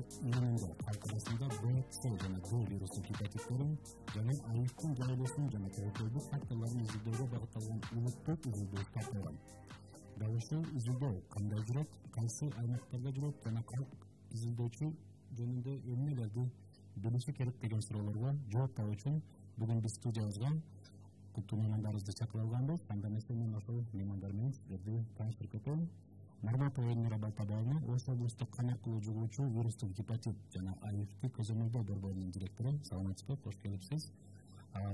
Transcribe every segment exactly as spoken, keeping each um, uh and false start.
жөнүндө калк арасында Б, С жана Д вирустук гепатиттерин жана аивдин жайылышын жана тобокелдик факторлорун изилдөөгө багытталган улуттук изилдөө тартылган. Дал ушул изилдөө кандай жүрөт, кайсы аймактарда жүрөт жана калк изилдөөчү жөнүндө эмнелерди билиши керек деген суроолорго жооп табуу үчүн бүгүн биз студиябызга куттуу меймандарыбызды чакырып алганбыз. Анда эмесе мен ошол меймандар менен сиздерди тааныштырып кетем. Марматова Элмира Балтабаевна, Ош облустук кан аркылуу жугуучу вирустук гепатит жана аивди көзөмөлдөө борборунун директору. Саламатсызбы, кош келипсиз.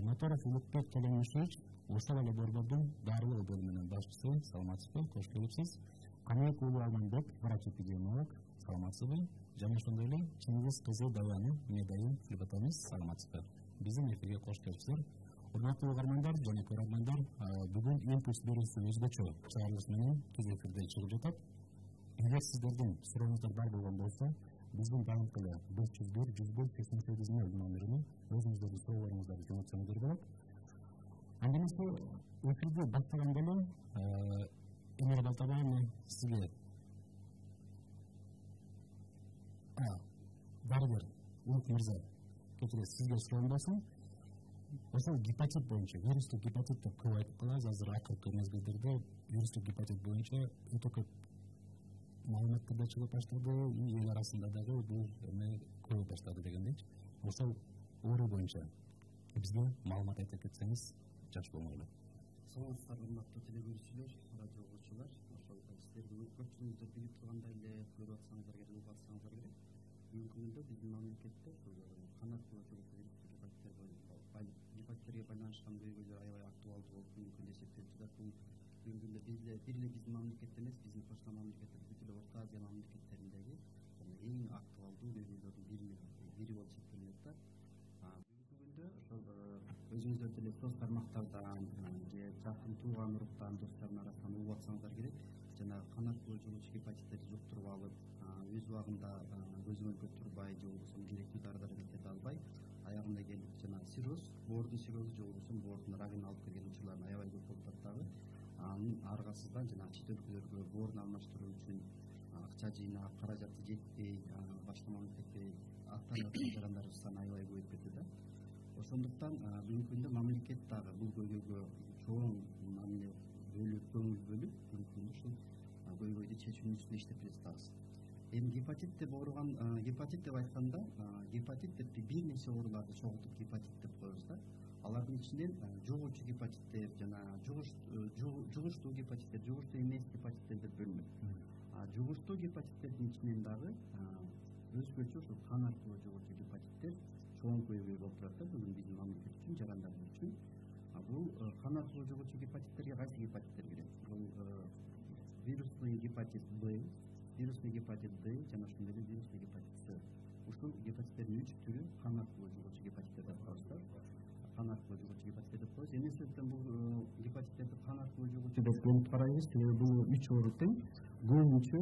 Моторов Улукбек Төлөмүшевич, ошол эле борбордун дарылоо бөлүмүнүн башчысы. Саламатсызбы, кош келипсиз. Каныбек уулу Алманбек, врач-эпидемиолог. Саламатсызбы. Жана ошондой эле Чыңгыз кызы Даяны медайын сүйлөп атабыз. Саламатсызбы. Биздин эфирге кош келипсиздер. Урматтуу угармандар жана көрөрмандар, бүгүн импульс берүүсү өзгөчө чыгарылыш менен түз эфирде чыгып жатат. Эгер сиздердин сурооңуздар бар болгон болсо, биздин дайымкы эле беш жүз бир жүз бир сексен сегиз нөл номерине өзүңүздөрдүн сурооңуздарды жөнөтсөңүздөр болот. Анда эмесе эфирди баштаганда эле Элмира Балтабаевна сизге дарыгер Улук мырза, кечиресиз, сизге суроом болсун. Ошол гепатит боюнча, вирустук гепатит деп көп айтып калабыз. Азыр акыркы мезгилдерде вирустук гепатит боюнча өтө көп маалыматтар да чыгып баштады, эл арасында дагы бул эме көбөйүп баштады дегендейчи. Ошол оору боюнча бизге маалымат айтып кетсеңиз жакшы болмок эле. Саламатсыздар, урматтуу телегөрүүчүлөр, радио угуучулар. Ошол сиздер көпчүлүгүңүздөр билип тургандай эле көрүп атсаңыздар керек, угуп атсаңыздар керек. Бүгүнкү күндө биздин мамлекетте кан аркылуу жугуучу вирустук гепатиттер гепатиттерге байланышкан көйгөйлөр аябай актуалдуу болуп мүмкүн деп эсептелип жатат. Бул бүгүнкү күндө бир эле биздин мамлекетте эмес, биздин кошуна мамлекеттер, бүт эле Орто Азия мамлекеттериндеги эң актуалдуу көйгөйлөрдүн бири бири болуп эсептелип атат. Бүгүнкү күндө ошол өзүңүздөр деле соц тармактардан же жакын тууган уруктан, достордун арасынан угуп атсаңыздар керек, жана кан аркылуу жугуучу гепатиттерди жуктуруп алып, өз убагында көзөмөлгө турбай же болбосо керектүү дары дармектерди албай, аягында келип жана сироз, боордун сирозу же болбосо боордун рагын алып келген учурлар аябай көп болуп атат дагы. Анын аргасыздан жана чет өлкөлөргө боорун алмаштыруу үчүн акча жыйнап, каражаты жетпей, башка мамлекетте аттанып жарандарыбыз саны аябай көбөйүп кетти да. Ошондуктан бүгүнкү күндө мамлекет дагы бул көйгөйгө чоң мамиле бөлүп, көңүл бөлүп, бүгүнкү күндө ушул көйгөйдү чечүүнүн үстүндө иштеп жатабыз. Эми гепатит деп ооруган, гепатит деп айтканда, гепатит деп бир нече ооруларды чогултуп гепатит деп коебуз да. Алардын ичинен жугуучу гепатиттер жана жугуштуу гепатиттер, жугуштуу эмес гепатиттер деп бөлүнөт. Жугуштуу гепатиттердин ичинен дагы өзгөчө ушул кан аркылуу жугуучу гепатиттер чоң көйгөй болуп турат да бүгүн биздин мамлекет үчүн, жарандарыбыз үчүн. Бул кан аркылуу жугуучу гепатиттерге кайсы гепатиттер кирет? Бул вирусный гепатит Б, вирусный гепатит Д жана ошондой эле вирусный гепатит С. Ушул гепатиттердин үч түрү кан аркылуу жугуучу гепатиттер деп коебуз. Кан аркылуу жугуучу гепатиттер деп коебуз. Эмне себептен бул гепатиттерди кан аркылуу жугуучу деп бөлүп карайбыз? Себеби бул үч оору тең көбүнчө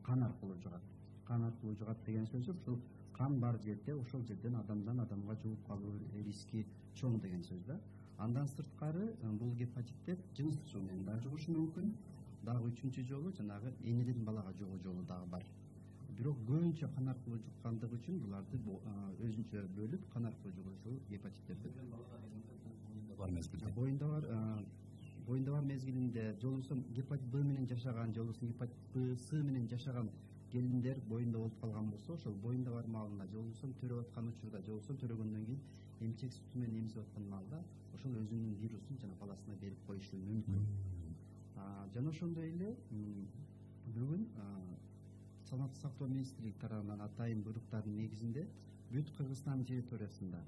кан аркылуу жугат. Кан аркылуу жугат деген сөзү ушул кан бар жерде, ошол жерден адамдан адамга жугуп калуу риски чоң деген сөз да. Андан сырткары бул гепатиттер жыныстык жол менен да жугушу мүмкүн. Дагы үчүнчү жолу жанагы энеден балага жугуу жолу дагы бар. Бирок көбүнчө кан аркылуу жуккандыгы үчүн буларды өзүнчө бөлүп кан аркылуу жугуучу гепатиттерди бар мезгилде. Боюнда бар, боюнда бар мезгилинде же болбосо гепатит Б менен жашаган, же болбосо гепатит Б, С менен жашаган келиндер боюнда болуп калган болсо, ошол боюнда бар маалында же болбосо төрөп аткан учурда, же болбосо төрөгөндөн кийин эмчек сүтү менен эмизип аткан маалда ошол өзүнүн вирусун жана баласына берип коюшу мүмкүн. Жана ошондой эле бүгүн Саламаттык сактоо министрлиги тарабынан атайын буйруктардын негизинде бүт Кыргызстан территориясында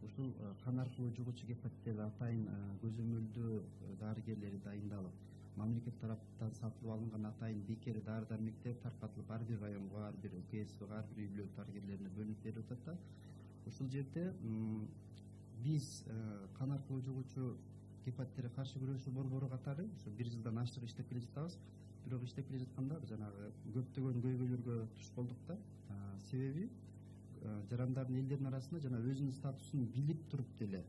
ушул кан аркылуу жугуучу гепатиттерди атайын көзөмөлдөө дарыгерлери дайындалып, мамлекет тараптан сатып алынган атайын бекер дары дармектер таркатылып ар бир районго, ар бир УКСга, ар бир үй бүлө дарыгерлерине бөлүнүп берип атат да. Ушул жерде биз кан аркылуу жугуучу гепатиттерге каршы күрөшүү борбору катары ушу бир жылдан ашык иштеп келе жатабыз. Бирок иштеп келе жатканда жанагы көптөгөн көйгөйлөргө туш болдук да. Себеби жарандардын элдердин арасында жана өзүнүн статусун билип туруп деле,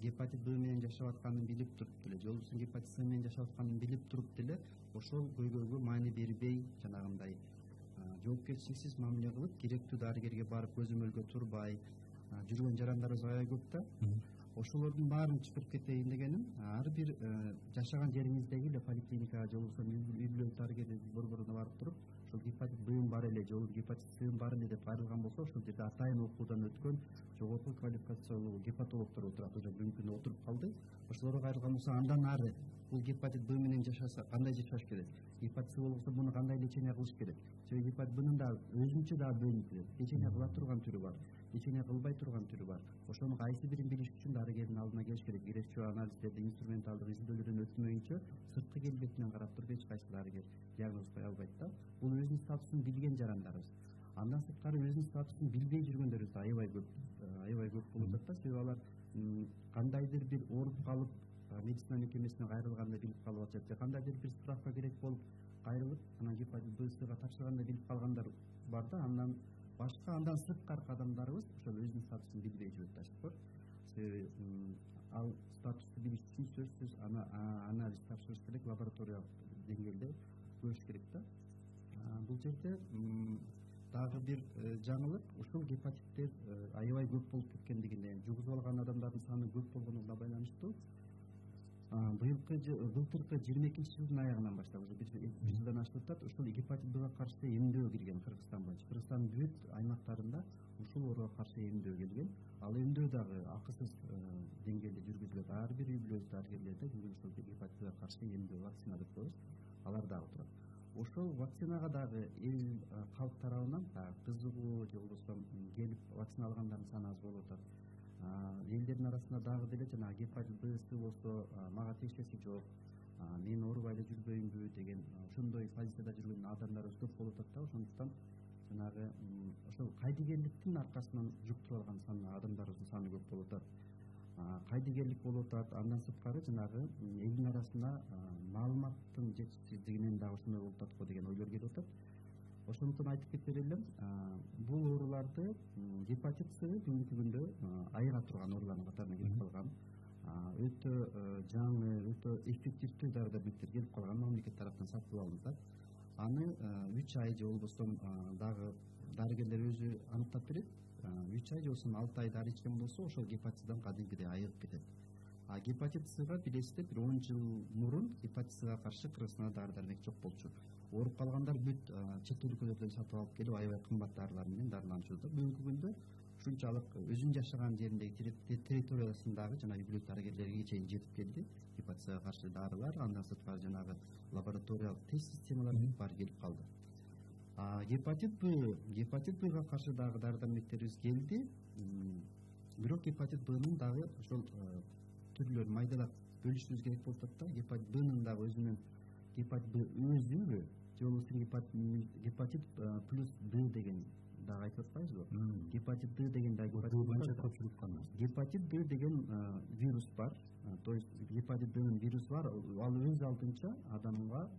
гепатит Б менен жашап атканын билип туруп деле, же болбосо гепатит С менен жашап атканын билип туруп деле ошол көйгөйгө маани бербей, жанагындай жол жоопкерчиликсиз мамиле кылып, керектүү дарыгерге барып көзөмөлгө турбай жүргөн жарандарыбыз аябай көп да. Ошолордун баарын чыгарып кетейин дегеним, ар бир жашаган жериңиздеги эле поликлиникага же болбосо үй-бүлөлүк дарыгердин борборуна барып туруп, ошол гепатит Б бар эле, же гепатит С бар эле деп айрылган болсо, ошол жерде атайын окуудан өткөн жогорку квалификациялуу гепатологдор отурат, уже бүгүнкү күндө отуруп калды. Ошолорго айрылган болсо, андан ары бул гепатит Б менен жашаса кандай жашаш керек? Гепатит С болсо муну кандай лечение кылыш керек? Себеби гепатит Бнын да өзүнчө да бөлүнүп кетет. Лечение кыла турган түрү бар, лечение кылбай турган түрү бар. Ошонун кайсы бирин билиш үчүн дарыгердин алдына келиш керек. Биречүү анализдерди, инструменталдык изилдөөлөрдөн өтмөйүнчө сырткы келбетинен карап туруп эч кайсы дарыгер диагноз кое албайт да. Бул өзүнүн статусун билген жарандарыбыз. Андан сырткары өзүнүн статусун билбей жүргөндөрүбүз аябай көп, аябай көп болуп атат да. Себеби алар кандайдыр бир ооруп калып, медицина мекемесине кайрылганда билип калып атышат, же кандайдыр бир справка керек болуп кайрылып, анан гепатит Б Сга тапшырганда билип калгандар бар да. Андан башка, андан сырткаркы адамдарыбыз ошол өзүнүн статусун билбей жүрөт да. Себеби ал статусту билиш үчүн сөзсүз анализ тапшырыш керек, лабораториялык деңгээлде көрүш керек да. Бул жерде дагы бир жаңылык, ушул гепатиттер аябай көп болуп кеткендигине, жугузуп алган адамдардын саны көп болгонуна байланыштуу. Быйылкы былтыркы жыйырма экинчи жылдын аягынан баштап уже бир жылдан ашып атат, ушул гепатит Бга каршы эмдөө кирген Кыргызстан боюнча. Кыргызстандын бүт аймактарында ушул ооруга каршы эмдөө келген. Ал эмдөө дагы акысыз деңгээлде жүргүзүлөт. Ар бир үй-бүлөлүк дарыгерлерде бүгүн ушул гепатит Бга каршы эмдөө, вакцина деп коебуз, алар дагы турат. Ошол вакцинага дагы эл калк тарабынан кызыгуу же болбосо келип вакцина алгандардын саны аз болуп атат. Элдердин арасында дагы деле жанагы гепатит Б С болсо мага тиешеси жок, мен оорубай эле жүрбөйүнбү деген ошондой позицияда жүргөн адамдарыбыз көп болуп атат да. Ошондуктан жанагы ошол кайдыгерликтин аркасынан жуктуруп алган адамдарыбыздын саны көп болуп атат. Кайдыгерлик болуп атат. Андан сырткары жанагы элдин арасында маалыматтын жетишсиздигинен дагы ошондой болуп атат го деген ойлор келип атат. Ошондуктан айтып кетер элем, бул ооруларды гепатит С бүгүнкү күндө айыга турган оорулардын катарына кирип калган. Өтө жаңы, өтө эффективдүү дары-дармектер келип калган, мамлекет тараптан сатып алынып. Аны үч ай же болбосо дагы дарыгерлер өзү аныктап берет. үч ай же болбосо алты ай дары ичкен болсо, ошол гепатиттен кадимкидей айыгып кетет. А гепатит Сга билесиздер, бир он жыл мурун гепатит Сга каршы Кыргызстанда дары-дармек жок болчу. Ооруп калгандар бүт чет өлкөлөрдөн сатып алып келип аябай кымбат дарылар менен дарыланышууда. Бүгүнкү күндө ушунчалык өзүнүн жашаган жериндеги территориясындагы жана үй-бүлөлүк дарыгерлерге чейин жетип келди гепатит Сга каршы дарылар. Андан сырткары жанагы лабораториялык тест системалары баары келип калды. Гепатит Б, гепатит Бга каршы дагы дары-дармектерибиз келди. Бирок гепатит Бнын дагы ошол түрлөрүн майдалап бөлүшүбүз керек болуп атат да. Гепатит Бнын дагы өзүнүн гепатит Б өзүбү, же болбосо гепатит плюс Д деген дагы айтып атпайбызбы? Гепатит Д деген дагы гепатит Д деген вирус бар. То есть гепатит Днын вирус бар, ал өз алдынча адамга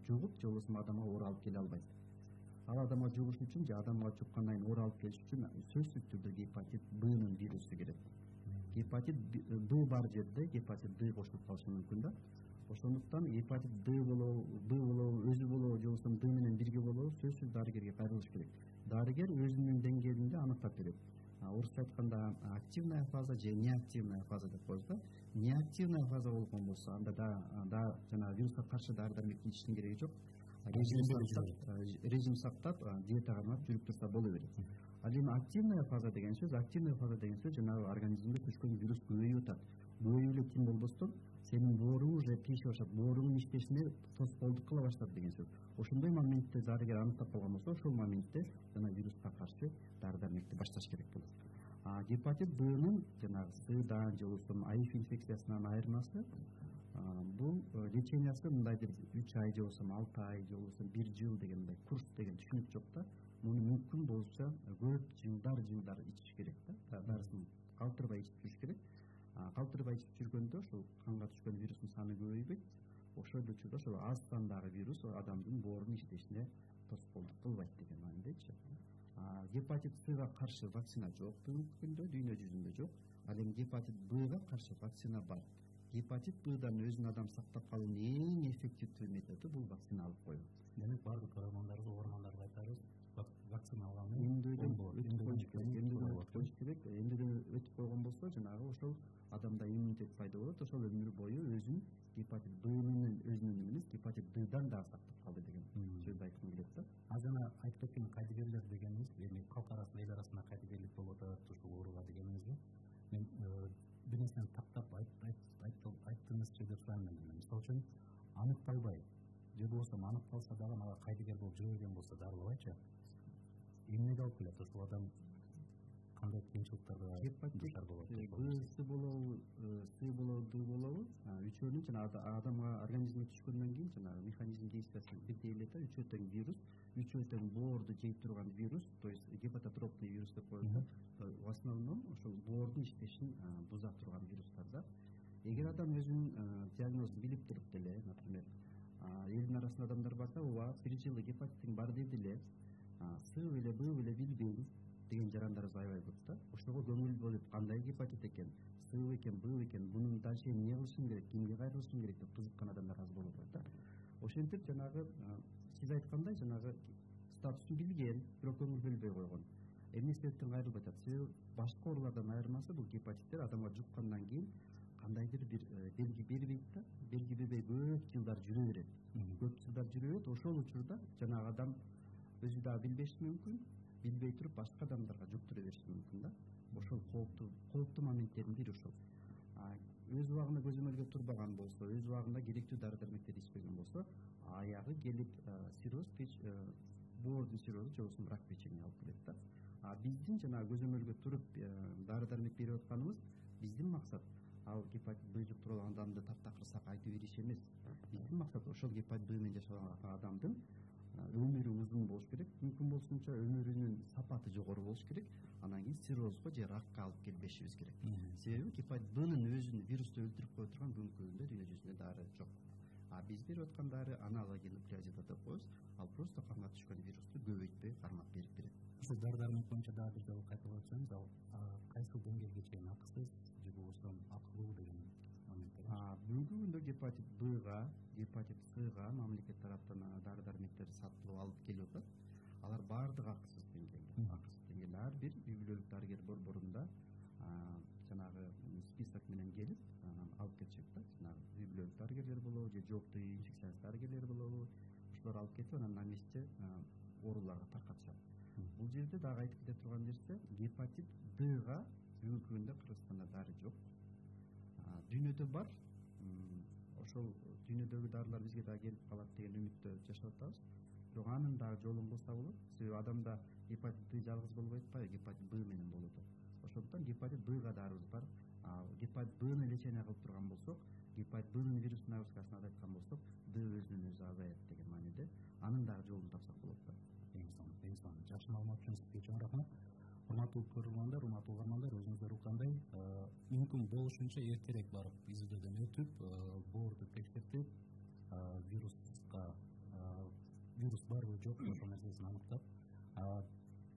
жугуп, же болбосо адамга оору алып келе албайт. Ал адамга жугуш үчүн же адамга жуккандан кийин оору алып келиш үчүн сөзсүз түрдө гепатит Бнын вирусу керек. Гепатит Б бар жерде гепатит Д кошулуп калышы мүмкүн да. Ошондуктан гепатит Д болобу, Б болобу, өзү болобу, же болбосо Д менен бирге болобу, сөзсүз дарыгерге кайрылыш керек. Дарыгер өзүнүн деңгээлинде аныктап берет. Орусча айтканда активная фаза же неактивная фаза деп коебуз да. Неактивная фаза болгон болсо, анда да жана вируска каршы дары-дармекти ичиштин кереги жок. Режим сактап, диетага карап жүрүп турса боло берет. Ал эми активная фаза деген сөз, активная фаза деген сөз жанагы организмге түшкөн вирус көбөйүп атат. Көбөйүп эле ким болбостон сенин бооруң уже тийише баштап, бооруңдун иштешине тоскоолдук кыла баштады деген сөз. Ошондой моментте дарыгер аныктап калган болсо, ошол моментте жана вируска каршы дары-дармекти башташ керек болот. А гепатит Бнын жанагы Сдан же болбосо АИФ инфекциясынан айырмасы, бул лечениясы мындайдыр үч ай же болбосо алты ай же болбосо бир жыл деген мындай курс деген түшүнүк жок да. Муну мүмкүн болсо көп жылдар жылдар ичиш керек да. Дарысын калтырбай ичип жүрүш керек. Калтырбай ичип жүргөндө ошол канга түшкөн вирустун саны көбөйбөйт. Ошол учурда ошол аз сандагы вирус адамдын боорунун иштешине тоскоолдук кылбайт деген маанидечи. Гепатит Сга каршы вакцина жок бүгүнкү күндө, дүйнө жүзүндө жок. Ал эми гепатит Бга каршы вакцина бар. Гепатит Бдан өзүн адам сактап калуунун эң эффективдүү методу бул вакцина алып коюу. Демек баардык көрөрмандарыбыз, угармандарга айтарыбыз, болсо жанагы ошол адамда иммунитет пайда болот, ошол өмүр бою өзүн гепатит Б менен өзүнөн эмес гепатит Ддан дагы сактап калды деген сөздү айткым келет да. А жана айтып кеткен кайдыгерлер дегенибиз эми калк арасында эл арасында кайдыгерлик болуп атат ушул ооруга дегенибизби мен бир нерсени тактап айттыңызчы деп сурайм элем. Мисалы үчүн аныкталбай же болбосо аныкталса дагы мага кайдыгер болуп жүрө берген болсо дарылабайчы эмнеге алып келет ушул адам кандай кыйынчылыктарга дуушар болот? Б болобу, С болобу, Д болобу, үчөөнүн жана адамга организмге түшкөндөн кийин жанагы механизм действиясы бирдей эле да, үчөө тең вирус, үчөө тең боорду жей турган вирус, то есть гепатотропный вирус деп коет да. В основном ошол боордун иштешин буза турган вирустар да. Эгер адам өзүнүн диагнозун билип туруп деле, например, элдин арасында адамдар барса, ооба, бир жылы гепатитим бар деди эле, С беле, Б беле билбейм деген жарандарыбыз аябай көп да. Ошого көңүл бөлүп, кандай гепатит экен, С экен, Б экен, мунун дальше эмне кылышым керек, кимге кайрылышым керек деп кызыккан адамдар аз болуп атат да. Ошентип жанагы сиз айткандай жанагы статусун билген, бирок көңүл бөлбөй койгон. Эмне себептен кайрылбай атат? Себеби башка оорулардан айырмасы бул гепатиттер адамга жуккандан кийин кандайдыр бир белги бербейт да, белги бербей көп жылдар жүрө берет. Көп жылдар жүрө берет, ошол учурда жанагы адам өзү дагы билбеши мүмкүн, билбей туруп башка адамдарга жуктура бериши мүмкүн да. Ошол кооптуу кооптуу моментттердин бири ошол. Өз убагында көзөмөлгө турбаган болсо, өз убагында керектүү дары дармектерди ичпеген болсо, аягы келип цирроз, боордун циррозу же болбосо рак печени алып келет да. А биздин жанагы көзөмөлгө туруп дары дармек берип атканыбыз биздин максат ал гепатит Б жуктуруп алган адамды таптакырсак айтып бериш эмес. Биздин максат ошол гепатит Б менен жашап аткан адамдын өмүрү узун болуш керек, мүмкүн болсунча өмүрүнүн сапаты жогору болуш керек, анан кийин циррозго же ракка алып келбешибиз керек. Себеби гепатит Бнын өзүн вирусту өлтүрүп кое турган мүмкүндүгүндө дүйнө жүзүндө дары жок. А биз берип аткан дары аналоги нуклеозида деп коебуз, ал просто канга түшкөн вирусту көбөйтпөй кармап берип берет. Ушул дары дармек боюнча дагы бир жолу кайталап өтсөңүз, ал кайсы деңгээлге чейин акысыз же болбосо акылуу деген моменттер. Бүгүнкү күндө гепатит Бга, гепатит Сга мамлекет тараптан дары дармектер сатылып алып келип атат. Алар баардыгы акысыз деңгээлде. Акысыз деңгээлде ар бир үй-бүлөлүк дарыгер борборунда жанагы список менен келип алып кетишет да. Жанагы үй-бүлөлүк дарыгерлер болобу же жооптуу инфекционист дарыгерлер болобу, ошолор алып кетип анан на месте ооруларга таркатышат. Бул жерде дагы айтып кете турган нерсе, гепатит Дга бүгүнкү күндө Кыргызстанда дары жок. Дүйнөдө бар, ошол дүйнөдөгү дарылар бизге дагы келип калат деген үмүттө жашап атабыз. Бирок анын дагы жолун кылса болот. Себеби адамда гепатит Д жалгыз болуп атпайбы, гепатит Б менен болуп атат. Ошондуктан гепатит Бга дарыбыз бар. Гепатит Бны лечение кылып турган болсок, гепатит Бнын вирус нагрузкасын азайткан болсок, Д өзүнөн өзү азаят деген мааниде анын дагы жолун тапсак болот да. Эң сонун, эң сонун. Жакшы маалымат үчүн сизге чоң рахмат. Урматтуу көрөрмандар, урматтуу угармандар, өзүңүздөр уккандай, мүмкүн болушунча эртерээк барып изилдөөдөн өтүп, боорду текшертип, вируска вирус барбы жокпу ошол нерсесин аныктап,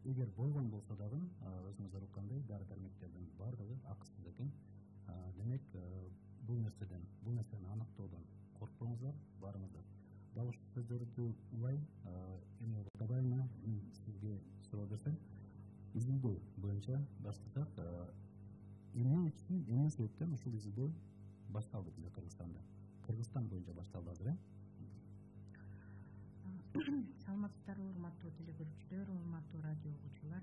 эгер болгон болсо дагы өзүңүздөр уккандай дары дармектердин баардыгы акысыз экен. Демек, бул нерседен, бул нерсени аныктоодон коркпоңуздар, барыңыздар. Дал ушул сөздөрдү улай, эми кадайына сизге суроо берсем, изилдөө боюнча баштасак, эмне үчүн, эмне себептен ушул изилдөө башталды бизде Кыргызстанда? Кыргызстан боюнча башталды азыр, э? Саламатсыздарбы, урматтуу телекөрүүчүлөр, урматтуу радио угуучулар.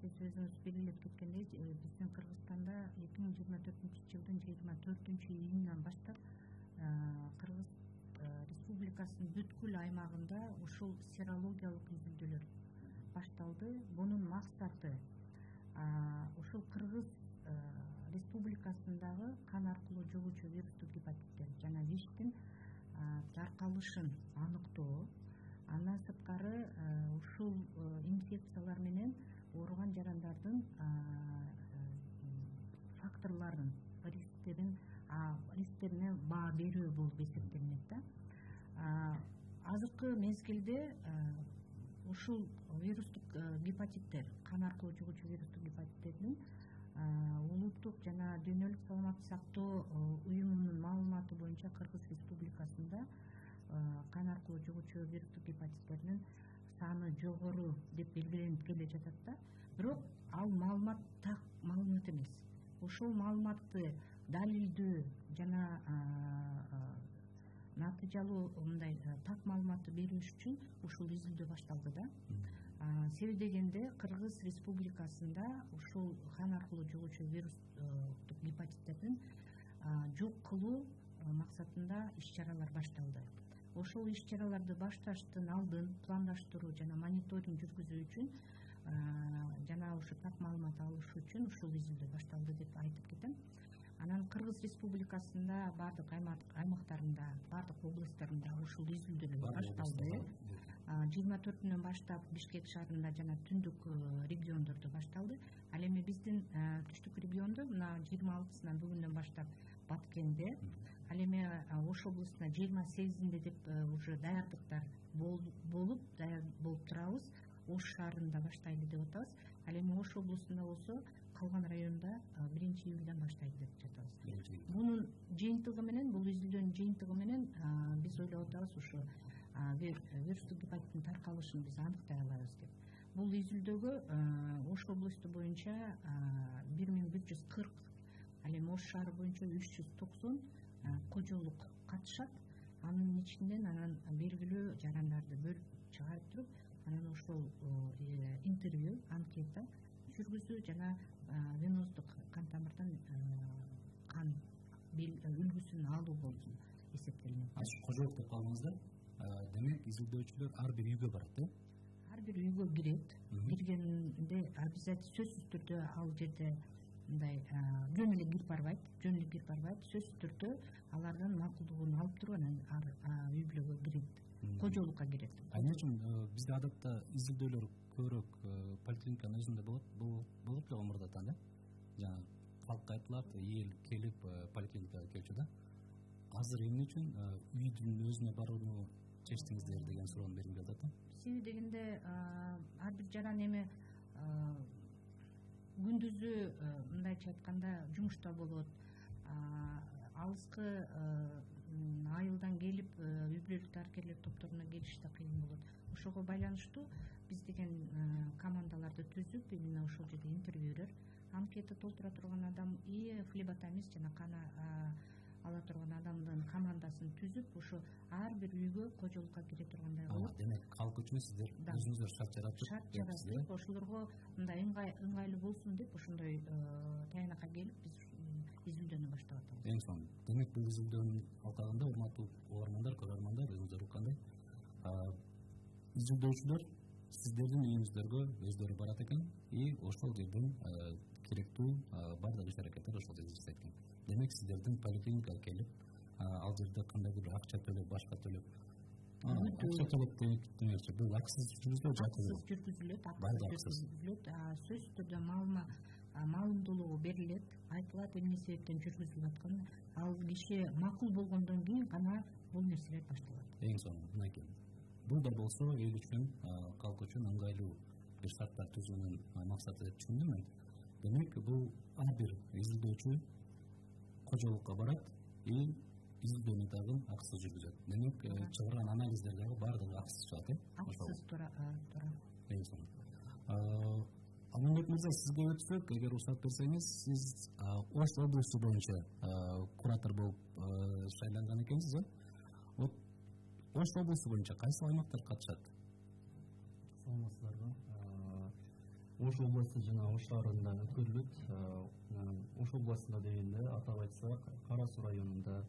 Сиз өзүңүз белгилеп кеткендей, биздин Кыргызстанда эки миң жыйырма төртүнчү жылдын жыйырма төртүнчү июнунан баштап Кыргыз Республикасынын бүткүл аймагында ушул серологиялык изилдөөлөр башталды. Бунун максаты ушул Кыргыз Республикасындагы кан аркылуу жугуучу вирустук гепатиттер жана виштин таркалышын аныктоо, андан сырткары ушул инфекциялар менен ооруган жарандардын факторлорун, рисктерин рисктерине баа берүү болуп эсептелинет да. Азыркы мезгилде ушул вирустук гепатиттер, кан аркылуу жугуучу вирустук гепатиттердин улуттук жана дүйнөлүк саламаттык сактоо уюмунун маалыматы боюнча Кыргыз Республикасында кан аркылуу жугуучу вирустук гепатиттердин саны жогору деп белгиленип келе жатат да. Бирок ал маалымат так маалымат эмес. ошол маалыматты далилдөө жана натыйжалуу мындай так маалыматты бериш үчүн ушул изилдөө башталды да. Себеби дегенде Кыргыз Республикасында ушул кан аркылуу жугуучу вирустук гепатиттердин жок кылуу максатында иш-чаралар башталды. Ошол иш-чараларды башташтын алдын пландаштыруу жана мониторинг жүргүзүү үчүн жана ушу так маалымат алыш үчүн ушул изилдөө башталды деп айтып кетем. Анан Кыргыз Республикасында бардык аймактарында, бардык областтарында ушул изилдөөлөр башталды. жыйырма төртүнөн баштап Бишкек шаарында жана түндүк региондордо башталды. Ал эми биздин түштүк региондо мына жыйырма алтысынан бүгүндөн баштап Баткенде, ал эми Ош облусуна жыйырма сегизинде деп уже даярдыктар болуп, даяр болуп турабыз. Ош шаарында баштайлы деп атабыз. Ал эми Ош облусунда болсо калган районда биринчи июлдан баштайлы деп жатабыз. Бунун жыйынтыгы менен, бул изилдөөнүн жыйынтыгы менен биз ойлоп атабыз ушу вирустук гепатиттин таркалышын биз аныктай алабыз деп. Бул изилдөөгө Ош облусту боюнча бир миң бир жүз кырк, ал эми Ош шаары боюнча үч жүз токсон кожолук катышат. Анын ичинен анан белгилүү жарандарды бөлүп чыгарып туруп, анан ошол интервью, анкета жүргүзүү жана веноздук кан тамырдан кан үлгүсүн алуу болуп эсептелинет. Ачык кожолук деп калдыңыздар. Демек изилдөөчүлөр ар бир үйгө барат, э? Ар бир үйгө кирет. Киргенде обязательно сөзсүз түрдө ал жерде мындай жөн эле кирип барбайт, жөн эле кирип барбайт. Сөзсүз түрдө алардан макулдугун алып туруп анан үй бүлөгө кирет, кожолукка кирет. Эмне үчүн бизде адатта изилдөөлөр көбүрөөк поликлиниканын өзүндө болот, болуп эле мурдатан, да? Жана калкка айтылат, эл келип поликлиникага келчү да. Азыр эмне үчүн үйдүн өзүнө барууну чечтиңиздер деген суроону бергим келип атат. Себеби дегенде ар бир жаран эми күндүзү мындайча айтканда жумушта болот, алыскы айылдан келип үй бүлөлүк дарыкерлер топторуна келиш да кыйын болот. Ошого байланыштуу биз деген командаларды түзүп, именно ошол жерде интервью берер, анкета толтура турган адам и флеботомист жана кана ала турган адамдын командасын түзүп, ошо ар бир үйгө кожолукка кире тургандай кылып. Демек, калк үчүн сиздер өзүңүздөр шарт жаратып, шарт жаратып, ошолорго мындай ыңгайлуу болсун деп ошондой таянакка келип биз изилдөөнү баштап атабыз. Эң сонун. Демек, бул изилдөөнүн алкагында урматтуу угармандар, көрөрмандар, өзүңүздөр уккандай, изилдөөчүлөр сиздердин үйүңүздөргө өздөрү барат экен и ошол жерден керектүү бардык иш-аракеттер ошол жерде жасайт экен. Демек, сиздердин поликлиникага келип, ал жерде кандайдыр бир акча төлөп, башка төлөп, акча төлөп демекчи, бул акысыз жүргүзүлөт, акысыз жүргүзүлөт, акысыз жүргүзүлөт, сөзсүз түрдө маалымдуулугу берилет, айтылат эмне себептен жүргүзүлүп атканын, ал киши макул болгондон кийин гана бул нерселер башталат. Эң сонун, мынакей. Бул да болсо эл үчүн, калк үчүн ыңгайлуу бир шарттар түзүүнүн максаты деп түшүндүм мен. Демек, бул ар бир изилдөөчү кожолукка барат и изилдөөнү дагы акысыз жүргүзөт. Демек, чыгарган анализдер дагы баардыгы акысыз чыгат, э? Акысыз туура. Эң сонун. Алмамбет мырза, сизге өтсөк, эгер уруксат берсеңиз, сиз Ош облусу боюнча куратор болуп шайланган экенсиз, э? Вот Ош облусу боюнча кайсы аймактар катышат? Саламатсыздарбы. Ош областы жана Ош шаарында өткөрүлөт. Ош областында дегенде атап айтсак, Кара Суу районунда,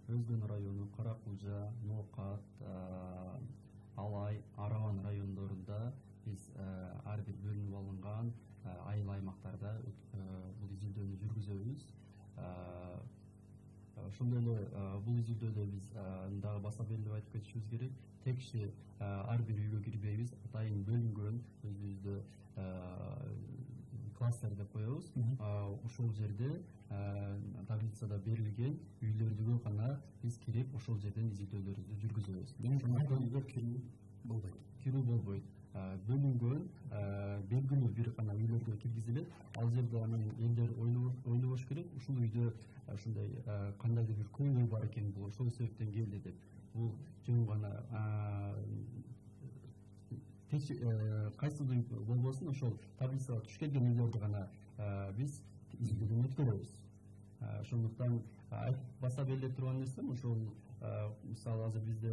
Өзгөн району, Кара Кулжа, Ноокат, Алай, Араван райондорунда биз ар бир бөлүнүп алынган айыл аймактарда бул изилдөөнү жүргүзөбүз. Ошондой эле бул изилдөөдө биз дагы баса белгилеп айтып кетишибиз керек. Тек киши ар бир үйгө кирбейбиз, атайын бөлүнгөн өзүбүздө кластер деп коебуз. Ошол жерде таблицада берилген үйлөргө гана биз кирип, ошол жерден изилдөөлөрүбүздү жүргүзөбүз. Демек, үйгө кирүү болбойт. Кирүү болбойт. Бөлүнгөн белгилүү бир гана үйлөргө киргизилет. Ал жерде анан элдер ойлобош керек, ушул үйдө ушундай кандайдыр бир көйгөй бар экен, бул ошол себептен келди деп. Бул жөн гана кайсыдыр болбосун, ошол таблицага туш келген үйлөрдү гана биз изилдөөнү өткөрөбүз. Ошондуктан баса беле турган нерсем ошол мисалы азыр бизде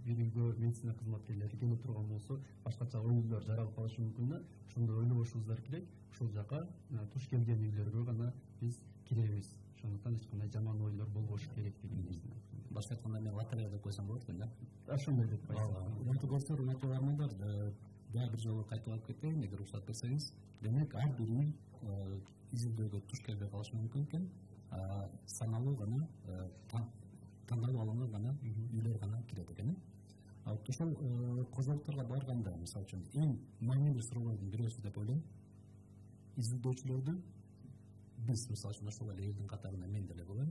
бир үйгө медицина кызматкерлери келе турган болсо башкача оюлар жаралып калышы мүмкүн да, ошондо ойлобошубуздар керек, ошол жака туш келген үйлөргө гана биз киребиз. Ошондуктан эч кандай жаман ойлор болбошу керек деген нерсени. Башка айтканда мен лотерея деп койсом болот экен да. Ошондой деп койсом. Урматтуу достор, урматтуу угармандар, дагы бир жолу кайтып алып кетейин, эгер уруксат берсеңиз. Демек, ар бир үй изилдөөгө туш келбей калышы мүмкүн экен. Саналуу гана, тандалып алынган гана үйлөр гана кирет экен. Ошол кожолукторго барганда, мисалы үчүн, эң маанилүү суроолордун бирөөсү деп ойлойм. Изилдөөчүлөрдү биз, мисалы үчүн, ошол эле элдин катарында мен деле болом.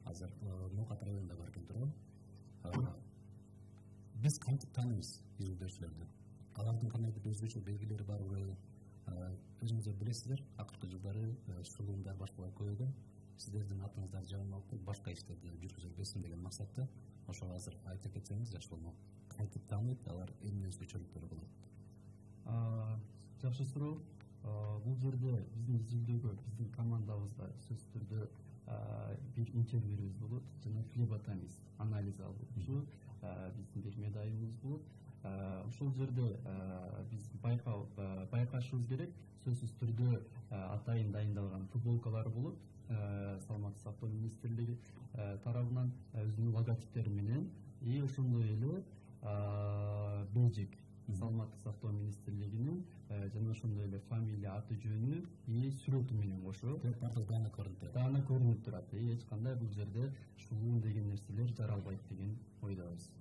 Азыр Ноокат районунда бар экен турам. Биз кантип тааныйбыз изилдөөчүлөрдү? Алардын кандайдыр өзгөчө белгилери барбы? Өзүңүздөр билесиздер, акыркы жылдары шылуундар башкалар көбөйгөн. Сиздердин атыңыздарды жаман алып, башка иштерди жүргүзө берсин деген максатта. Ошол азыр айтып кетсеңиз жакшы болмок. Кантип тааныйт, алар эмне өзгөчөлүктөрү болот? Жакшы суроо. Бул жерде биздин изилдөөгө, биздин командабызда сөзсүз түрдө бир интервьюбүз болот жана флеботомист анализ алуучу биздин бир медайыбыз болот. Ошол жерде биз байкашыбыз керек, сөзсүз түрдө атайын дайындалган футболкалар болот. Саламаттык сактоо министрлиги тарабынан өзүнүн логотиптери менен и ошондой эле бежик Саламаттык сактоо министрлигинин жана ошондой эле фамилия, аты жөнү и сүрөтү менен кошо даана көрүнүп турат. Даана көрүнүп турат. Эч кандай бул жерде шулуу деген нерселер жаралбайт деген ойдобуз.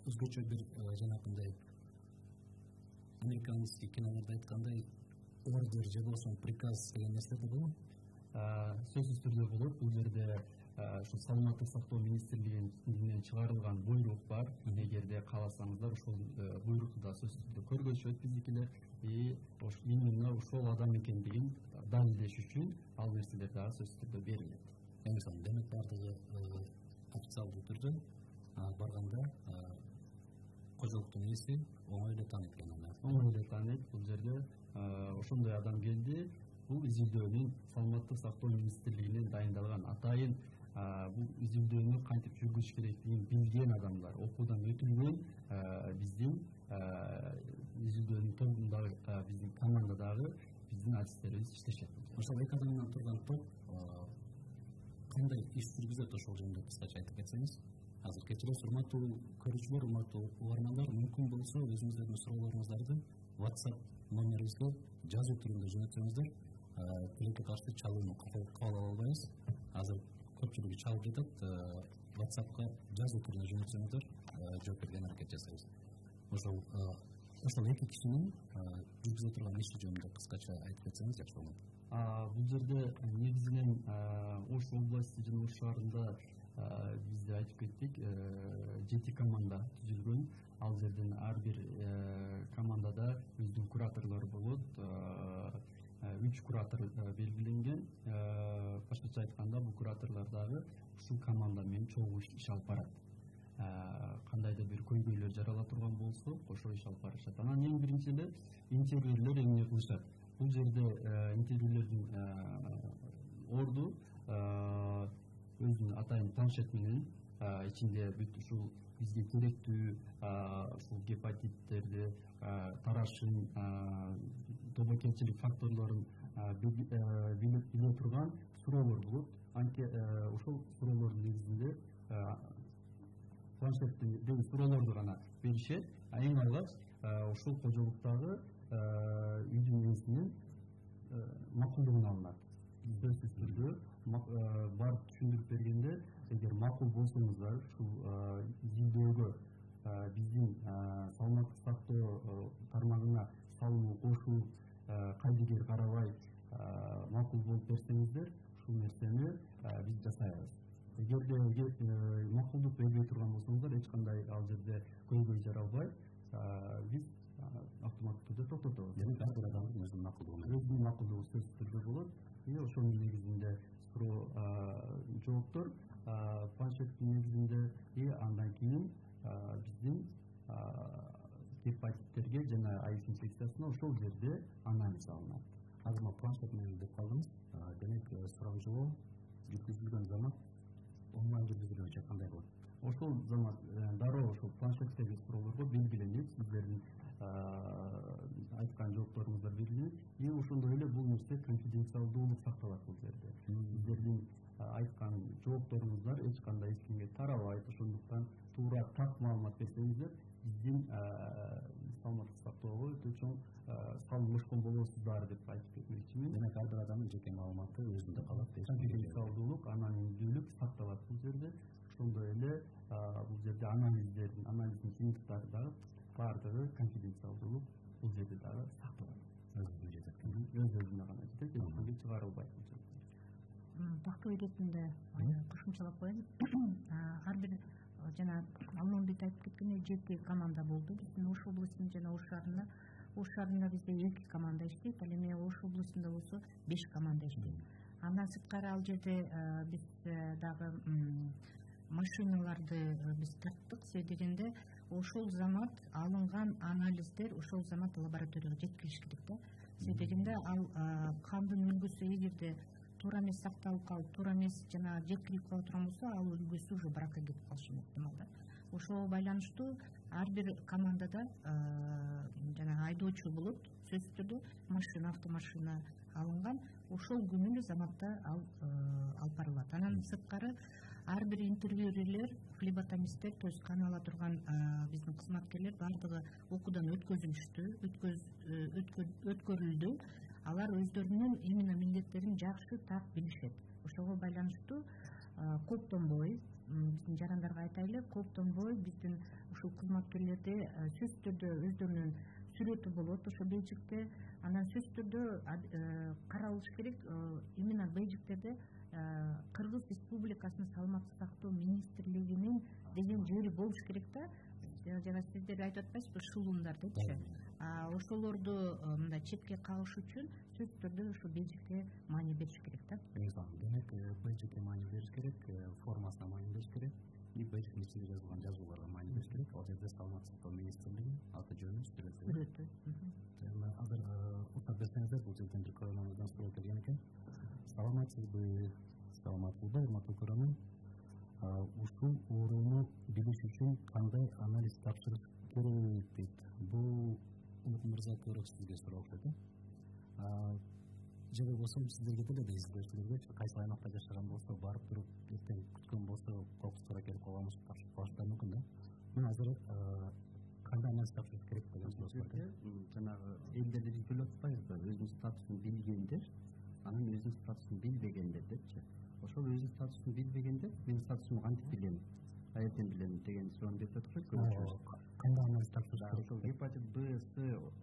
Өзгөчө бир жанакындай американский кинолордо айткандай ордер же болбосо приказ деген нерселер да болобу? Сөзсүз түрдө болот. Бул жерде ушу Саламаттык сактоо министрлигинен чыгарылган буйрук бар. Эгерде кааласаңыздар, ошол буйрукту да сөзсүз түрдө көргөзүшөт биздикилер. И именно ошол адам экендигин далилдеш үчүн ал нерселер дагы сөзсүз түрдө берилет. Демек, бардыгы официалдуу түрдө барганда кожолуктун ээси оңой эле тааныйт экен аны. Оңой эле тааныйт. Бул жерде ошондой адам келди. Бул изилдөөнүн Саламаттык сактоо министрлигинен дайындалган атайын бул изилдөөнү кантип жүргүзүш керектигин билген адамдар, окуудан өтүлгөн биздин изилдөөнүн тобундагы биздин командадагы биздин артисттерибиз иштешет. Ошол эки адамдан турган топ кандай иш жүргүзөт, ошол жөнүндө кыскача айтып кетсеңиз? Азыр кечиресиз, урматтуу көрүүчүлөр, урматтуу угармандар, мүмкүн болсо өзүңүздөрдүн суроолоруңуздарды WhatsApp номерибизге жазуу түрүндө жөнөтсөңүздөр, тилекке каршы чалууну кабыл ала албайбыз. Азыр көпчүлүгү чалып жатат, WhatsAppка жазуу түрүндө жөнөтсөңүздөр, жооп берген аракет жасайбыз. Ошол ошол эки кишинин жүргүзө турган иши жөнүндө кыскача айтып кетсеңиз жакшы болот. Бул жерде негизинен Ош области жана Ош шаарында бизде айтып кеттик, жети команда түзүлгөн. Ал жерден ар бир командада өздүн кураторлору болот. Үч куратор белгиленген. Башкача айтканда, бул кураторлор дагы ушул команда менен чогуу иш алып барат. Кандайдыр бир көйгөйлөр жарала турган болсо, кошо иш алып барышат. Анан эң биринчи эле интервьюлер эмне кылышат? Бул жерде интервьюлердин орду өзүнүн атайын планшет менен ичинде бүт ушул бизге керектүү ушул гепатиттерди, тарашын, тобокелчилик факторлорун биле турган суроолор болот. Анткени ошол суроолордун негизинде планшеттеги суроолорду гана беришет. Эң алгач ошол кожолуктагы үйдүн ээсинин макулдугун алынат. Сөзсүз түрдө барып түшүндүрүп бергенде, эгер макул болсоңуздар, ушул изилдөөгө биздин саламаттык сактоо тармагына салуу кошуу кайдыгер карабай макул болуп берсеңиздер, ушул нерсени биз жасайбыз. Эгерде макулдук бербей турган болсоңуздар, эч кандай ал жерде көйгөй жаралбай, биз автоматтык түрдө токтотобуз. Демек, ар бир адамдын өзүнүн макулдугу өзүнүн макулдугу сөзсүз түрдө болот. И ошонун негизинде суроо жооптор планшеттин негизинде, и андан кийин биздин гепатиттерге жана аис инфекциясына ошол жерде анализ алынат. азыр мына планшет менен деп калдыңыз. Демек суроо жолоо жүргүзүлгөн замат онлайн жүргүзүлгөнчө кандай болот? Ошол замат дароо ошол планшеттеги суроолорго белгиленет, сиздердин айткан жоопторуңуздар белгиленет. И ошондой эле бул нерсе конфиденциалдуулук сакталат бул жерде. Сиздердин айткан жоопторуңуздар эч кандай эч кимге тарабайт. Ошондуктан туура так маалымат берсеңиздер, биздин саламаттык сактоого өтө чоң салымдашкан болосуздар деп айтып кетмекчимин. Демек ар бир адамдын жеке маалыматы өзүндө калат. Конфиденциалдуулук, анонимдүүлүк сакталат бул жерде. Ошондой эле бул жерде анализдердин, анализдин жыйынтыктары дагы баардыгы конфиденциалдуулук бул жерде дагы сакталат. Өз-өзүнө жетет. Өз-өзүнө гана жетет, эч кимге чыгарылбайт. Тактоо иретинде кошумчалап коеюн. Ар бир жана Алмамбет айтып кеткендей жети команда болду биздин Ош облусунун жана Ош шаарында. Ош шаарында бизде эки команда иштейт, ал эми Ош облусунда болсо беш команда иштейт. Андан сырткары ал жерде биз дагы машиналарды биз тарттык. Себеби дегенде ошол замат алынган анализдер ошол замат лабораторияга жеткириш керек да. Себеби дегенде ал кандын үлгүсү эгерде туура эмес сакталып калып, туура эмес жана жеткирип кала турган болсо, ал үлгүсү уже бракка кетип калышы ыктымал да. Ошого байланыштуу ар бир командада жана айдоочу болот, сөзсүз түрдө машина, автомашина алынган, ошол күнү эле заматта ал алып барылат. Анан сырткары ар бир интервьюерлер, флеботомисттер, то есть кан ала турган биздин кызматкерлер баардыгы окуудан өткөзүлүштү, өткөрүлдү. Алар өздөрүнүн именно милдеттерин жакшы так билишет. Ошого байланыштуу коптонбой, биздин жарандарга айтайлы, коптонбой биздин ушул кызматкерлерде сөзсүз түрдө өздөрүнүн сүрөтү болот ошо бейжикте. Анан сөзсүз түрдө каралыш керек, именно бейжиктерде Кыргыз Республикасынын саламаттык сактоо министрлигинин деген жери болуш керек да. Жана сиздер айтып атпайсызбы, шылуундар депчи. Ошолорду мындай четке кагыш үчүн сөзсүз түрдө ошо бейжикке маани бериш керек да. Демек бейжикке маани бериш керек, формасына маани бериш керек, и бейжиктин ичинде жазылган жазууларга маани бериш керек. Ал жерде саламаттык сактоо министрлиги аты жөнү, сүрөтү. Азыр утап берсеңиздер, бул жерден бир көрөрманыбыздан суроо келген экен. Саламатсызбы, саламатсызбы, урматтуу көрөрман? Ушул ооруну билиш үчүн кандай анализ тапшырыш керек дейт. Бул Улук мырза көрөк сизге суроо окшойт. Же болбосо сиздерге деле да изилдөөчүлөргө кайсы аймакта жашаган болсо, барып туруп эртең күткөн болсо, коркустуура келип калганбыз, тапшырып калыштары мүмкүн да. Мен азыр кандай анализ тапшырыш керек деген суроо бар. Жанагы элдерди биз билип атпайбызбы, өзүнүн статусун билгендер, анан өзүнүн статусун билбегендер депчи. Ошол өзүнүн статусун билбегендер, мен статусумду кантип билем, каерден билем деген суроону берип атышат көрүүчүбүз. Кандай анализ тапшырыш керек? Ошол гепатит Б, С,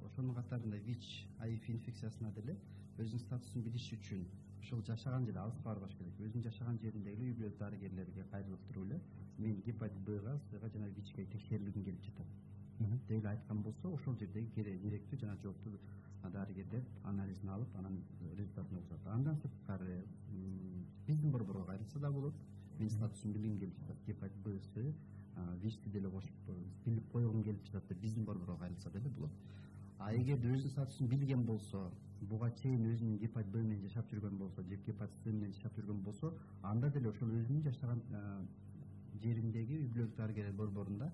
ошонун катарында ВИЧ, АИФ инфекциясына деле өзүнүн статусун билиш үчүн ошол жашаган жерде алыска барбаш керек. Өзүнүн жашаган жериндеги үй бүлөлүк дарыгерлерге кайрылып туруп эле мен гепатит Бга, Сга жана ВИЧке текшерилгим келип жатат деп эле айткан болсо, ошол жердеги керектүү жана жооптуу дарыгерлер анализин алып, анан результатын окутат. Андан сырткары биздин борборго кайрылса да болот. Мен статусун билгим келип жатат, гепатит Б, С, ВИЧти деле кошуп билип койгум келип жатат деп биздин борборго кайрылса деле болот. А эгерде өзүнүн статусун билген болсо, буга чейин өзүнүн гепатит Б менен жашап жүргөн болсо, же гепатит С менен жашап жүргөн болсо, анда деле ошол өзүнүн жашаган жериндеги үй бүлөлүк дарыгерлер борборунда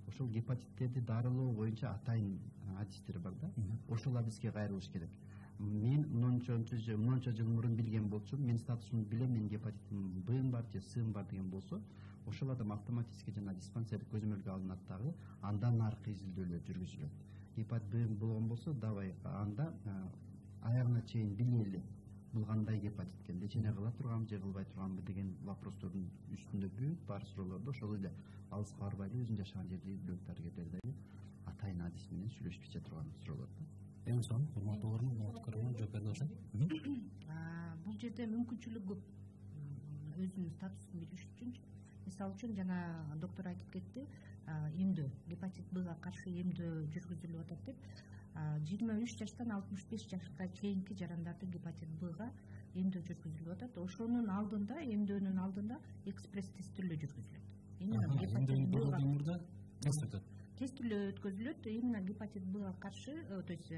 ошол гепатиттерди дарылоо боюнча атайын адистер бар да. Ошол адиске кайрылыш керек. Мен мынча жыл мынча жыл мурун билген болчумун, мен статусумду билем, мен гепатитим Б бар же С бар деген болсо, ошол адам автоматически жана диспансерлик көзөмөлгө алынат дагы, андан наркы изилдөөлөр жүргүзүлөт. Гепатит Б болгон болсо, давай анда аягына чейин билели бул кандай гепатит экен, лечение кыла турганбы же кылбай турганбы деген вопростордун үстүндө бүт бар суроолорду ошол эле алыска барбай эле өзүнүн жашаган жердеги бүлөк дарыгерлердеги атайын адис менен сүйлөшүп кете турган суроолор да. Эң сонун урматтуу көрөрман жооп берди окшойт. Бул жерде мүмкүнчүлүк көп өзүнүн статусун билиш үчүнчү. Мисалы үчүн жана доктор айтып кетти, эмдөө гепатит Бга каршы эмдөө жүргүзүлүп атат деп. жыйырма үч жаштан алтымыш беш жашка чейинки жарандарды гепатит Бга эмдөө жүргүзүлүп атат. Ошонун алдында, эмдөөнүн алдында экспресс тестилөө жүргүзүлөт. Именно гепатит Бга тест тестилөө өткөзүлөт именно гепатит Бга каршы, то есть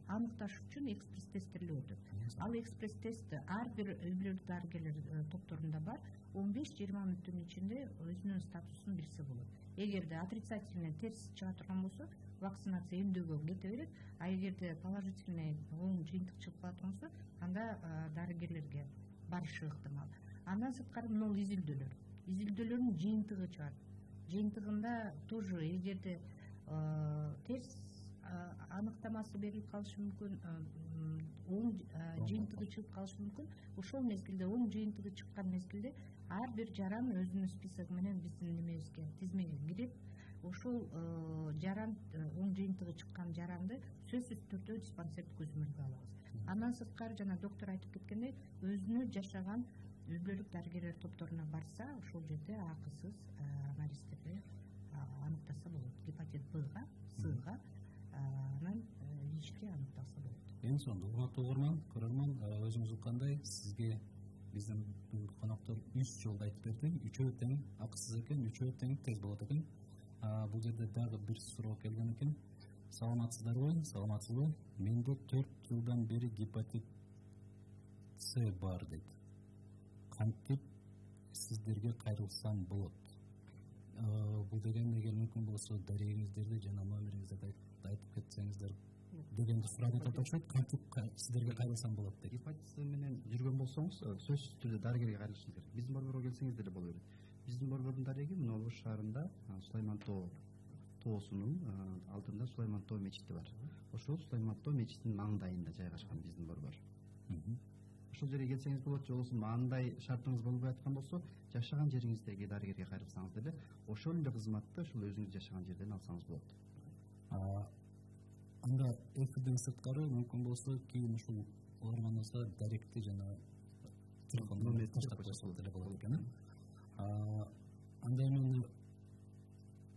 аныкташ үчүн экспресс тесттелип өтөт. Ал экспресс тест ар бир үй бүлөлүк дарыгерлер топторунда бар. он беш жыйырма мүнөттүн ичинде өзүнүн статусун билсе болот. Эгерде отрицательный терс чыга турган болсо, вакцинация эмдөөгө кете берет. А эгерде положительный оң жыйынтык чыгып калат болсо, анда дарыгерлерге барышы ыктымал. Андан сырткары мына изилдөөлөр. Изилдөөлөрдүн жыйынтыгы чыгат. Жыйынтыгында тоже эгерде терс аныктамасы берилип калышы мүмкүн, оң жыйынтыгы чыгып калышы мүмкүн. Ошол мезгилде оң жыйынтыгы чыккан мезгилде ар бир жаран өзүнүн списоги менен биздин немебизге, тизмеге кирип, ошол жаран оң жыйынтыгы чыккан жаранды сөзсүз түрдө диспансердик көзөмөлгө алабыз. Андан сырткары жана доктор айтып кеткендей, өзүнү жашаган үй бүлөлүк дарыгерлер топторуна барса, ошол жерде акысыз анализдерди аныктаса болот. Гепатит Бга, Сга, анан ВИЧти аныкталса болот. Эң сонун урматтуу угарман, көрөрман, өзүңүз уккандай сизге биздин коноктор үч жолду айтып берди. Үчөө тең акысыз экен, үчөө тең тез болот экен. Бул жерде дагы бир суроо келген экен. Саламатсыздарбы? Саламатсызбы? Менде төрт жылдан бери гепатит С бар дейт. Кантип сиздерге кайрылсам болот? Бул деген эгер мүмкүн болсо дарегиңиздерди жана номериңиздерди айтып кетсеңиздер дегенди сурап атышат. Кантип сиздерге кайрылсам болот дейт. Гепатит С менен жүргөн болсоңуз, сөзсүз түрдө дарыгерге кайрылышыңыз керек. Биздин борборго келсеңиз деле боло берет. Биздин борбордун дареги мына Ош шаарында Сулайман Тоо тоосунун алдында Сулайман Тоо мечити бар. Ошол Сулайман Тоо мечитинин маңдайында жайгашкан биздин борбор. Ошол жерге келсеңиз болот, же болбосо андай шартыңыз болбой аткан болсо, жашаган жериңиздеги дарыгерге кайрылсаңыз деле ошол эле кызматты ошол өзүңүз жашаган жерден алсаңыз болот. Анда эфирден сырткары мүмкүн болсо кийин ушул угарманыбызга даректи жана телефон номерди таштап койсо деле болот экен. Анда эми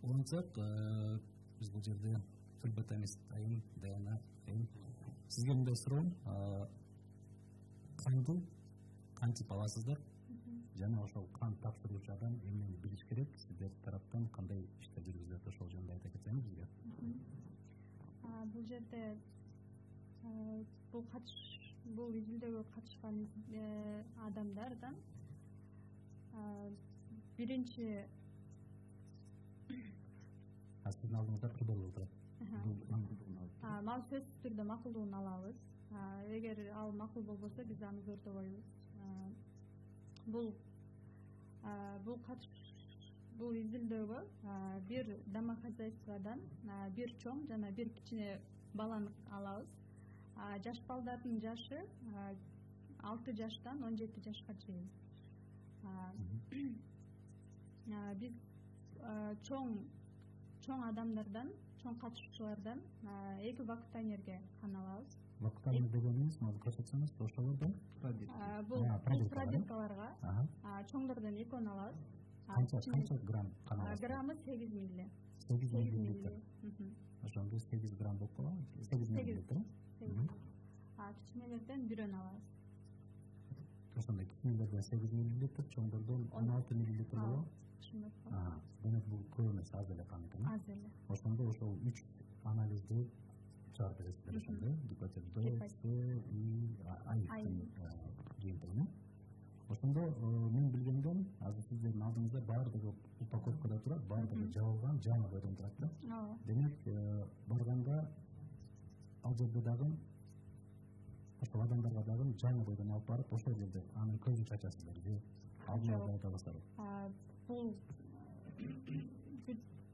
улантсак, биз бул жерде флебетамист айым Даяна айым сизге мындай суроом, канды кантип аласыздар жана ошол кан тапшыруучу адам эмнени билиш керек, сиздер тараптан кандай иштер жүргүзүлөт, ошол жөнүндө айта кетсеңиз бизге. Бул жерде бул катыш бул изилдөөгө катышкан адамдардан биринчи сиздин алдыңызда кырдалып турат. Мал сөзсүз түрдө макулдугун алабыз. Эгер ал макул болбосо биз аны көрдөбөйбүз. Бул бул катыш бул изилдөөгө бир домохозяйстводан бир чоң жана бир кичине баланы алабыз. Жаш балдардын жашы алты жаштан он жети жашка чейин. Биз чоң чоң адамдардан, чоң катышуучулардан эки вакуумтайнерге кан алабыз. Вакуумтайнер дегенибиз, мага көрсөтсөңүз, ошолордон бул пробиркаларга, чоңдордон экөөнү алабыз. Канча грамм кан алабыз? Граммы сегиз милли. сегиз миллилитр. Ошондо сегиз грамм болуп калабы? сегиз миллилитр. Кичинелерден бирөөнү алабыз. Ошондо кичинелерден сегиз миллилитр, чоңдордон он алты миллилитр болобу? Демек бул көп эмес, аз эле кан экен. Аз эле. Ошондо ошол үч анализди чыгарып бересиздер ошондо, гепатит Б, С, И, Аиктин жыйынтыгын. Ошондо мен билгенден азыр сиздердин алдыңызда баардыгы упаковкада турат, баардыгы жабылган, жаңы бойдон турат да. Демек барганда ал жерде дагы ошол адамдарга дагы жаңы бойдон алып барып, ошол жерде анын көзүн чачасыздар же алдын айтабыздар. Бул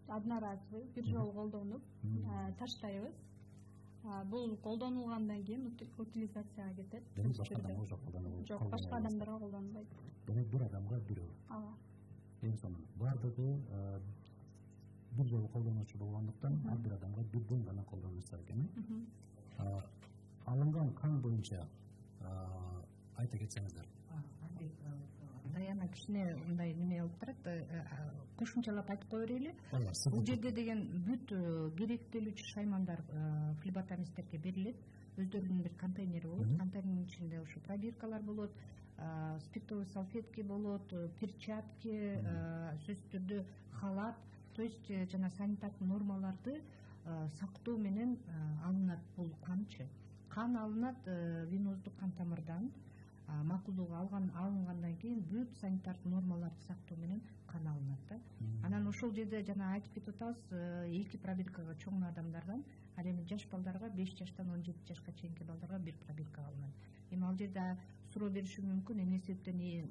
одноразовый, бир жолу колдонуп таштайбыз. Бул колдонулгандан кийин утилизацияга кетет. Демек башка адамга жок колдонулбайт. Жок, башка адамдарга колдонбойт. Демек бир адамга бирөө. Ооба. Эң сонун. Бардыгы бир жолу колдонуучу болгондуктан ар бир адамга бирден гана колдонулса экен. Алынган кан боюнча айта кетсеңиздер. Даяна кичине мындай неме алып турат, кошумчалап айтып кое берели. Бул жерде деген бүт керектелүүчү шаймандар флебетамисттерге берилет. Өздөрүнүн бир контейнери болот. Контейнердин ичинде ошо пробиркалар болот, спиртовый салфетки болот, перчатки, сөзсүз түрдө халат. то есть жана санитардык нормаларды сактоо менен алынат бул канчы кан алынат веноздук кан тамырдан макулдугу алган алынгандан кийин бүт санитардык нормаларды сактоо менен кан алынат да. Анан ошол жерде жана айтып кетип атабыз эки пробиркага чоң адамдардан, ал эми жаш балдарга беш жаштан он жети жашка чейинки балдарга бир пробирка алынат. Эми ал жерде суроо бериши мүмкүн, эмне себептен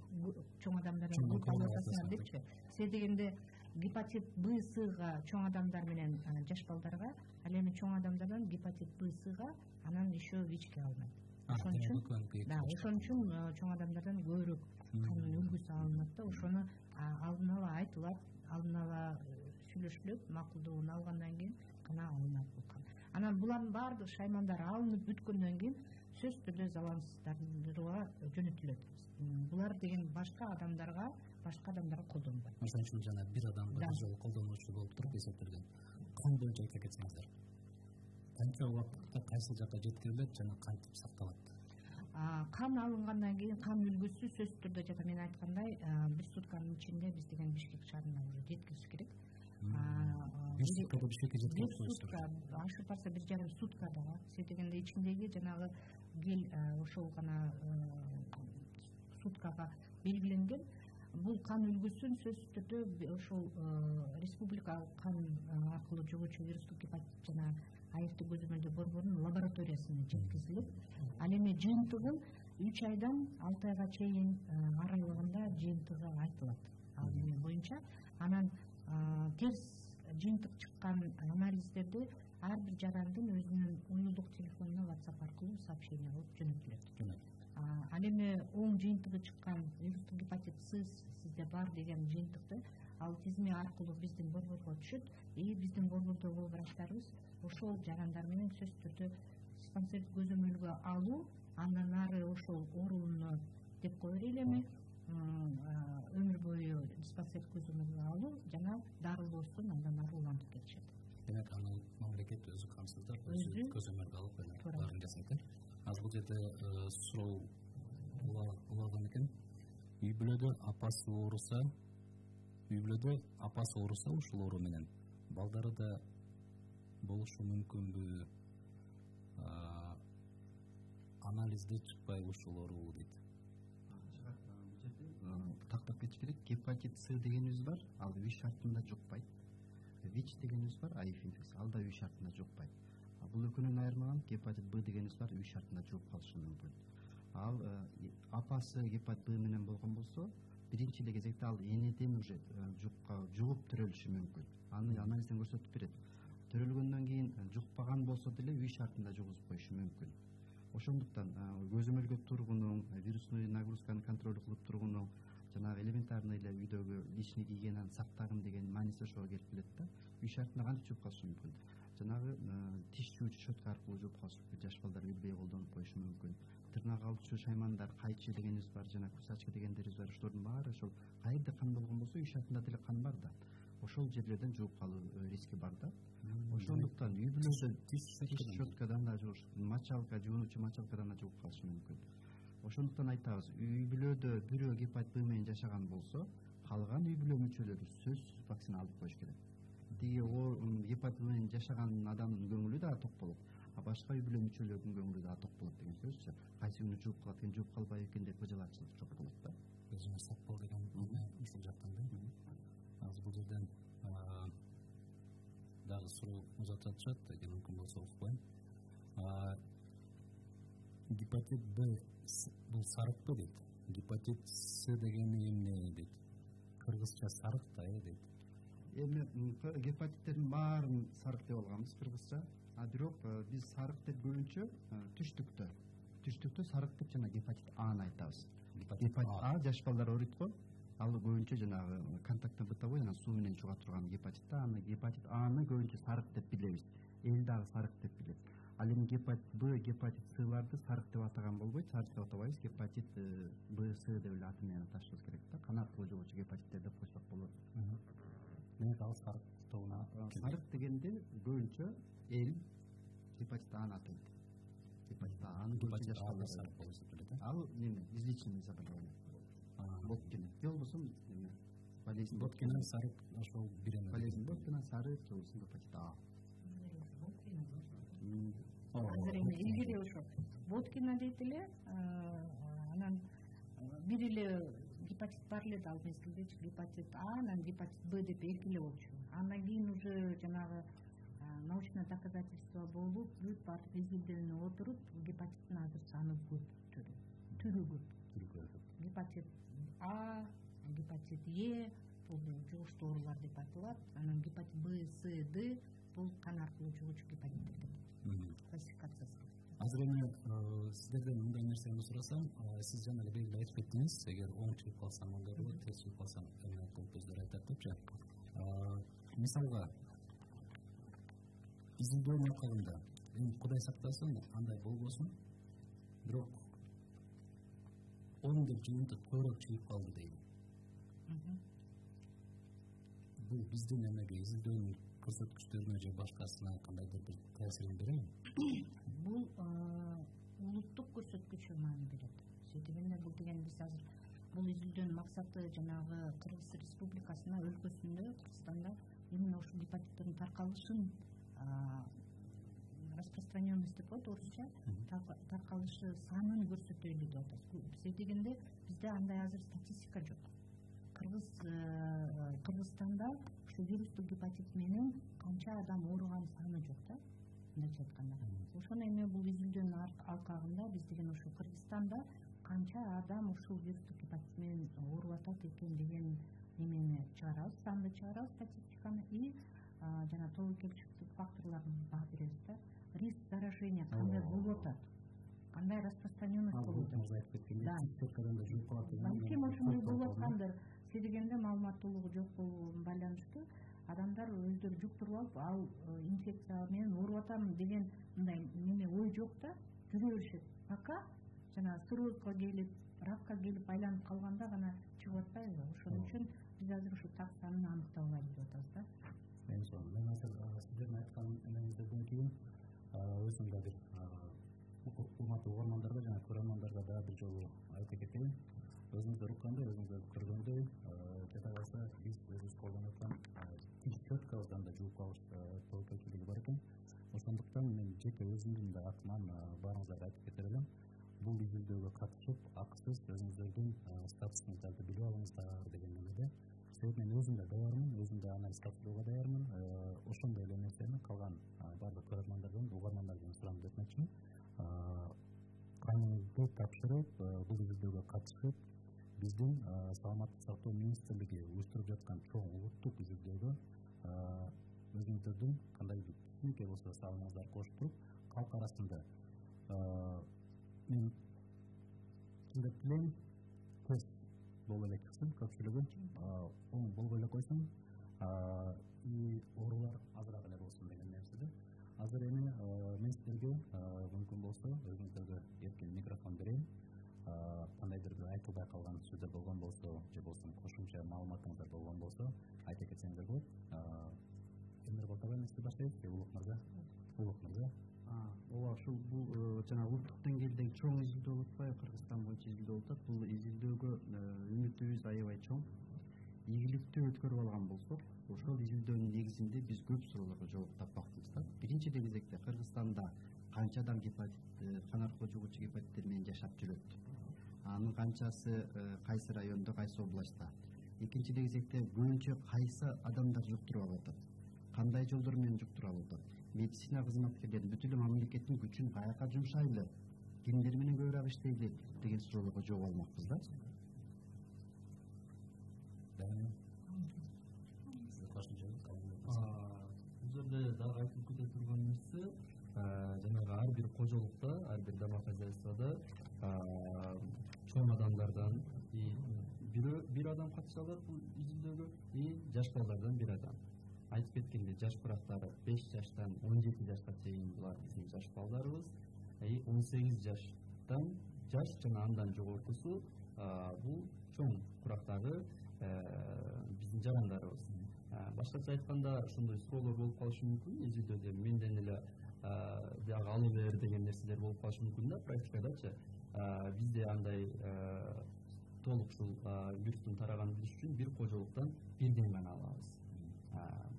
чоң адамдардан көп алып атасыңар депчи. Се дегенде гепатит Б, Сга чоң адамдар менен жаш балдарга, ал эми чоң адамдардан гепатит Б, Сга анан еще ВИЧке алынат. Ошон үчүн да, ошон үчүн чоң адамдардан көбүрөөк кандын үлгүсү алынат да, ошону алдын ала айтылат, алдын ала сүйлөшүлөт, макулдугун алгандан кийин гана алынат бул кан. Анан булардын баардык шаймандар алынып бүткөндөн кийин сөзсүз түрдө залалсыздандырууга жөнөтүлөт. Булар деген башка адамдарга, башка адамдарга колдонбойт. Ошон үчүн жана бир адамга бир жолу колдонуучу болуп туруп эсептелген. Кан боюнча айта кетсеңиздер. Канча убакытта кайсы жакка жеткирилет жана кантип сакталат? Кан алынгандан кийин кан үлгүсү сөзсүз түрдө жана мен айткандай бир сутканын ичинде биз деген Бишкек шаарына уже жеткириш керек. Бир суткада Бишкекке жеткирип коюштур. Ашып барса бир жарым суткада. Се дегенде ичиндеги жанагы гел ошол гана суткага белгиленген. Бул кан үлгүсүн сөзсүз түрдө ошол республикалык кан аркылуу жугуучу вирустук гепатит жана айыртуу көзөмөлдөө борборунун лабораториясына жеткизилип, ал эми жыйынтыгын үч айдан алты айга чейин аралыгында жыйынтыгы айтылат. Ал эми боюнча анан терс жыйынтык чыккан анализдерди ар бир жарандын өзүнүн уюлдук телефонуна WhatsApp аркылуу сообщение кылып жөнөтүлөт. Ал эми оң жыйынтыгы чыккан вирустук гепатит С сизде бар деген жыйынтыкты ал тизме аркылуу биздин борборго түшөт. И биздин борбордогу врачтарыбыз ошол жарандар менен сөзсүз түрдө диспансердик көзөмөлгө алуу, андан ары ошол ооруну деп кое берели эми өмүр бою диспансердик көзөмөлгө алуу жана дарылоосун андан ары улантып кетишет. Демек аны мамлекет өзү камсыздап, өзү көзөмөлгө алып баарын жасайт. Азыр бул жерде суроо улаган экен. Үй бүлөдө апасы ооруса, үй бүлөдө апасы ооруса ушул оору менен балдары да болушу мүмкүнбү? Анализде чыкпайбы ушул оору дейт. Тактап кетиш керек. Гепатит С дегенибиз бар, ал үй шартында жукпайт. ВИЧ дегенибиз бар, АИФ инфекция, ал да үй шартында жукпайт. Бул экөөнүн айырмаган гепатит Б дегенибиз бар, үй шартында жугуп калышы мүмкүн. Ал апасы гепатит Б менен болгон болсо, биринчи эле кезекте ал энеден уже жугуп төрөлүшү мүмкүн. Аны анализден көрсөтүп берет. Төрөлгөндөн кийин жукпаган болсо деле үй шартында жугузуп коюшу мүмкүн. Ошондуктан көзөмөлгө тургунуң, вирусный нагрузканы контроль кылып тургунуң, жанагы элементарный эле үйдөгү личный гигиенаны сактагын деген мааниси ошого келип келет да. Үй шартында кантип жууп калышы мүмкүн? Жанагы тиш жуучу щетка аркылуу жууп калышы мүмкүн. Жаш балдар билбей колдонуп коюшу мүмкүн. Тырнак алуучу шаймандар, кайчы дегенибиз бар, жана кусачка дегендерибиз бар. Ошолордун баары ошол кайерде кан болгон болсо үй шартында деле кан бар да. Ошол жерлерден жууп калуу риски бар да. Ошондуктан үй бүлөдө тиш щеткадан да жууш, мочалка, жуунучу мочалкадан да жууп калышы мүмкүн. Ошондуктан айтабыз, үй бүлөдө бирөө гепатит Б менен жашаган болсо, калган үй бүлө мүчөлөрү сөзсүз вакцина алып коюш керек. Тиги гепатит Б менен жашаган адамдын көңүлү да ток болот, а башка үй бүлө мүчөлөрүнүн көңүлү да ток болот деген сөзчү. Кайсы күнү жууп калат экен, жууп калбайбы экен деп ыжалаачылык жок болот да. Өзүңө сак бол деген ушул жактан да. Азыр бул жерден дагы суроо узатып атышат, эгер мүмкүн болсо укпайм. Гепатит Б бул сарыкпы дейт. Гепатит С дегени эмне дейт? Кыргызча сарык да э дейт. Эми гепатиттердин баарын сарык деп алганбыз кыргызча. А бирок биз сарык деп көбүнчө түштүктө, түштүктө сарык деп жана гепатит Аны айтабыз. Гепатит А жаш балдар ооруйт го. Ал көбүнчө жанагы контактный бытовой жана суу менен чуга турган гепатит. Аны гепатит Аны көбүнчө сарык деп билебиз. Эл дагы сарык деп билет. Ал эми гепатит Б, гепатит Сларды сарык деп атаган болбойт, сарык деп атабайбыз. Гепатит Б, С деп эле аты менен аташыбыз керек да. Кан аркылуу жугуучу гепатиттер деп койсок болот. Демек ал сарык тобуна сарык дегенде көбүнчө эл гепатит Аны атайт. Гепатит Аны көбүнчө жаш балдар сарык болуп келет. Ал эме излеченный заболевание болуп келет. Же болбосо эме болезнь боткина сарык ошол бир эме болезнь боткина сарык жолусун гепатит А. Азыр эми илгери ошо боткина дейт эле, анан бир эле гепатит бар эле да ал мезгилдечи, гепатит А, анан гепатит Б деп эки эле болчу. Андан кийин уже жанагы научный доказательство болуп, бүт баардык изилдөөнү отуруп, гепатиттин азыр саны көп, түрү түрү көп. Гепатит А, гепатит Е бул жугуштуу оорулар деп аталат. Анан гепатит Б, С, Д бул кан аркылуу жугуучу гепатиттер деп классификациясы. Азыр эми сиздерден мындай нерсени сурасам, сиз жана эле белгилеп айтып кеттиңиз, эгер оң чыгып калсаң мындай болот, терс чыгып калсаң эме болуп өздөрү айтат депчи. Мисалга изилдөөнүн акыбында эми Кудай сактасын андай болбосун, бирок он деп жыйынтык көбүрөөк чыгып калды дейли. Бул биздин эмеге изилдөөнүн көрсөткүчтөрүнө же башкасына кандайдыр бир таасирин береби? Бул улуттук көрсөткүчү маани берет. Себебинде бул деген биз азыр бул изилдөөнүн максаты жанагы Кыргыз Республикасына, өлкөсүндө, Кыргызстанда именно ушул гепатиттердин таркалышын, распространенность деп коет орусча, таркалышы санын көрсөтөлү деп атат. Себеби дегенде бизде андай азыр статистика жок. Кыргыз Кыргызстанда ушу вирустук гепатит менен канча адам ооруган саны жок да, мындайча айтканда. Ошону эми бул изилдөөнүн алкагында биз деген ушу Кыргызстанда канча адам ушул вирустук гепатит менен ооруп атат экен деген немени чыгарабыз, санды чыгарабыз, статистиканы и жана тобокелчиликтик факторлорун баа беребиз да. Риск заражения кандай болуп атат, кандай распространенность болуп атат. Да. Балким ошондой болуп аткандыр. Дегенде маалыматтуулугу жок болугу байланыштуу адамдар өздөрү жуктуруп алып, ал инфекция менен ооруп атам деген мындай неме ой жок да, жүрө беришет. Пока жана циррозго келип, ракка келип айланып калганда гана чыгып атпайбы? Ошон үчүн биз азыр ушу так санын аныктап алайлы деп атабыз да. Мен азыр сиздердин айткан эмеңизден кийин өзүм да бир урматтуу угармандарга жана көрөрмандарга да бир жолу айта кетейин. Өзүңүздөр уккандай, өзүңүздөр көргөндөй, жада калса биз өзүбүз колдонуп аткан тиш четкабыздан да жууп калыш тобокелчилиги бар экен. Ошондуктан мен жеке өзүмдүн да атыман баарыңыздарга айтып кетер элем. Бул изилдөөгө катышып, акысыз өзүңүздөрдүн статусуңуздарды билип алыңыздар деген немеде. Себеби мен өзүм да даярмын, өзүм да анализ тапшырууга даярмын. Ошондой эле нерсени калган баардык көрөрмандардан, угармандардан сураңыз этмекчимин. Каныңызды тапшырып, бул изилдөөгө катышып, биздин саламаттык сактоо министрлиги уюштуруп жаткан чоң улуттук изилдөөгө өзүңүздөрдүн кандайдыр кичинекей болсо салымыңыздарды кошуп туруп, калк арасында мен чындап элем тест боло эле чыксын, көпчүлүгү оң болбой эле койсун, и оорулар азыраак эле болсун деген нерседе. Азыр эми мен сиздерге мүмкүн болсо өзүңүздөргө эркин микрофон берейин. Кандайдыр бир айтылбай калган сөздөр болгон болсо, же болбосо кошумча маалыматыңыздар болгон болсо айта кетсеңиздер болот. Эмир Балтабай эмне баштайбыз? Улук мырза. Улук мырза. Ооба, ушул бул жана улуттук деңгээлдеги чоң изилдөө болуп атпайбы? Кыргызстан боюнча изилдөө болуп атат. Бул изилдөөгө үмүтүбүз аябай чоң. Ийгиликтүү өткөрүп алган болсок, ошол изилдөөнүн негизинде биз көп суроолорго жооп тапмакчыбыз да. Биринчи кезекте Кыргызстанда канча адам гепатит, кан аркылуу жугуучу гепатиттер менен жашап жүрөт? Анын канчасы кайсы райондо, кайсы областта? Экинчи кезекте көбүнчө кайсы адамдар жуктуруп алып атат? Кандай жолдор менен жуктуруп алып атат? Медицина кызматкерлери бүт эле мамлекеттин күчүн каяка жумшайлы? Кимдер менен көбүрөөк иштейли деген суроолорго жооп алмакпыз да. Бул жерде дагы айтылып кете турган нерсе, жанагы ар бир кожолукта, ар бир домохозяйстводо чоң адамдардан бир адам катыша алат бул изилдөөгө, и жаш балдардан бир адам. Айтып кеткендей, жаш курактары беш жаштан он жети жашка чейин булар биздин жаш балдарыбыз, и он сегиз жаштан жаш жана андан жогоркусу бул чоң курактагы биздин жарандарыбыз. Башкача айтканда, ошондой суроолор болуп калышы мүмкүн, изилдөөдө менден эле биягы алып бер деген нерселер болуп калышы мүмкүн да, практикадачы. Бизде андай толук ушул вирустун тараганын билиш үчүн бир кожолуктан бирден гана алабыз.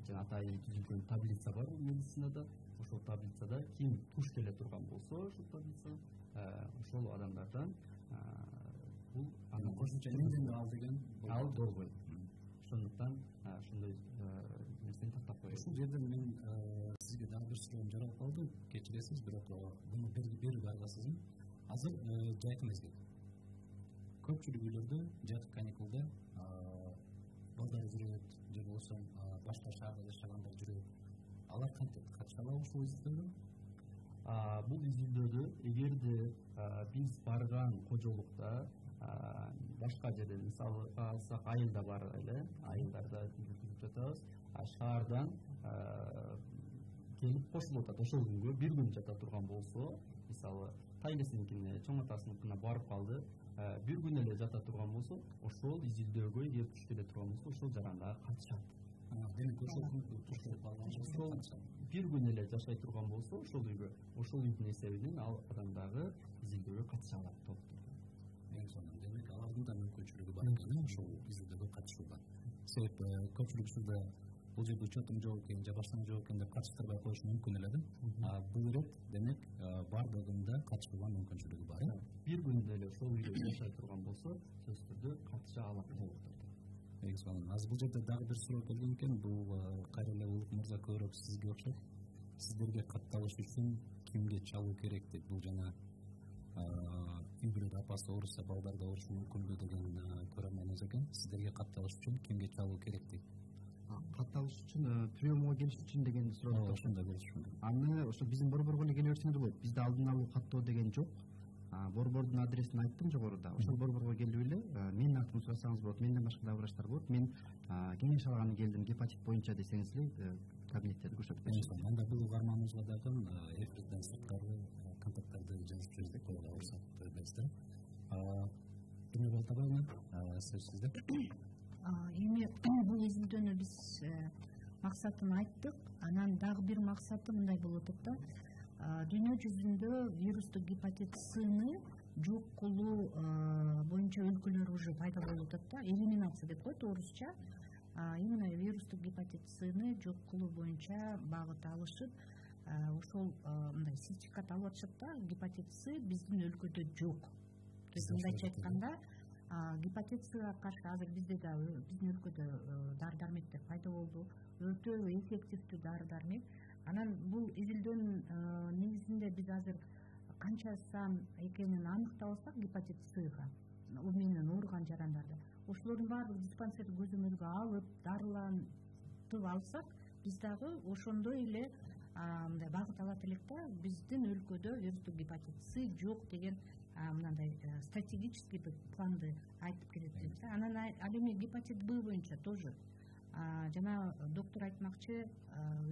Жана атайын түзүлгөн таблица бар медицинада. Ошол таблицада ким туш келе турган болсо, ошол таблица ошол адамдардан бул анын кошумча эмден ал деген ал болбойт. Ошондуктан ошондой нерсени тактап коюш. Ушул жерден мен сизге дагы бир суроом жаралып калды. Кечиресиз, бирок буну берип аргасызмын. Азыр жайкы мезгил. Көпчүлүк үйлөрдө жайкы каникулда балдар жүрөт, же болбосо башка шаарда жашагандар жүрөт. Алар кантип катыша алабы ушул изилдөөгө? Бул изилдөөдө эгерде биз барган кожолукта башка жерден мисалы алсак айылда бар эле, айылдарда жүргүзүп жатабыз. Шаардан келип кошулуп атат. Ошол күнгө бир күн жата турган болсо, мисалы тайнесиникине, чоң атасыныкына барып калды, бир күн эле жата турган болсо, ошол изилдөөгө эгер туш келе турган болсо, ошол жарандага катышат. Демек ошол күндө туш келип алган бир күн эле жашай турган болсо, ошол үйгө, ошол үйдүн эсебинен ал адам дагы изилдөөгө катыша алат толуктуу. Эң сонун, демек алардын да мүмкүнчүлүгү бар экен ошол изилдөөгө катышууга. Себеп көпчүлүк учурда бул жерде учетум жок экен, же башка жок экен деп катыштырбай коюш мүмкүн эле да. Бул ирет демек бардыгында катышууга мүмкүнчүлүгү бар. Бир күн эле ошол үйдө жашай турган болсо, сөзсүз түрдө катыша алат толуктуу. Эң сонун. Азыр бул жерде дагы бир суроо келген экен. Бул кайра эле Улук мырза көбүрөөк сизге окшойт. Сиздерге катталыш үчүн кимге чалуу керек деп, бул жана үй бүлөдө апасы ооруса балдар да оорушу мүмкүнбү деген көрөрмөнүбүз экен. Сиздерге катталыш үчүн кимге чалуу керек дейт? Катталыш үчүн приемго келиш үчүн деген суроо. Ошондой келишим. Аны ошо биздин борборго эле келе берсеңиз болот. Бизде алдын алуу каттоо деген жок. Борбордун адресин айттым жогоруда. Ошол борборго келип эле менин атымды сурасаңыз болот. Менден башка да врачтар болот. Мен кеңеш алганы келдим гепатит боюнча десеңиз эле кабинеттерди көрсөтүп беришет. Анда бул угарманыбызга дагы эфирден сырткары контакттарды жазып жиберсек коюла уруксат бересиздер. Эмне Балтабаева, сөз сизде. Эми бул изилдөөнү биз максатын айттык. Анан дагы бир максаты мындай болуп атат да. Дүйнө жүзүндө вирустук гепатит С-ны жок кылуу боюнча өлкөлөр уже пайда болуп атат да. Элиминация деп коет орусча. Именно вирустук гепатит С-ны жок кылуу боюнча багыт алышып, ошол мындай сертификат алып атышат да. Гепатит С биздин өлкөдө жок. Мындайча айтканда, гепатит Сга каршы азыр бизде да биздин өлкөдө дары-дармектер пайда болду. Өтө эффективдүү дары-дармек. Анан бул изилдөөнүн негизинде биз азыр канча сан экенин аныктап алсак гепатит Сга, ал менен ооруган жарандарда, ошолордун баардыгы диспансердик көзөмөлгө алып, дарылантып алсак, биз дагы ошондой эле мындай багыт алат элек да. Биздин өлкөдө вирустук гепатит С жок деген мындай стратегический планды айтып келет элек да. Анан ал эми гепатит Б боюнча тоже жана доктор айтмакчы,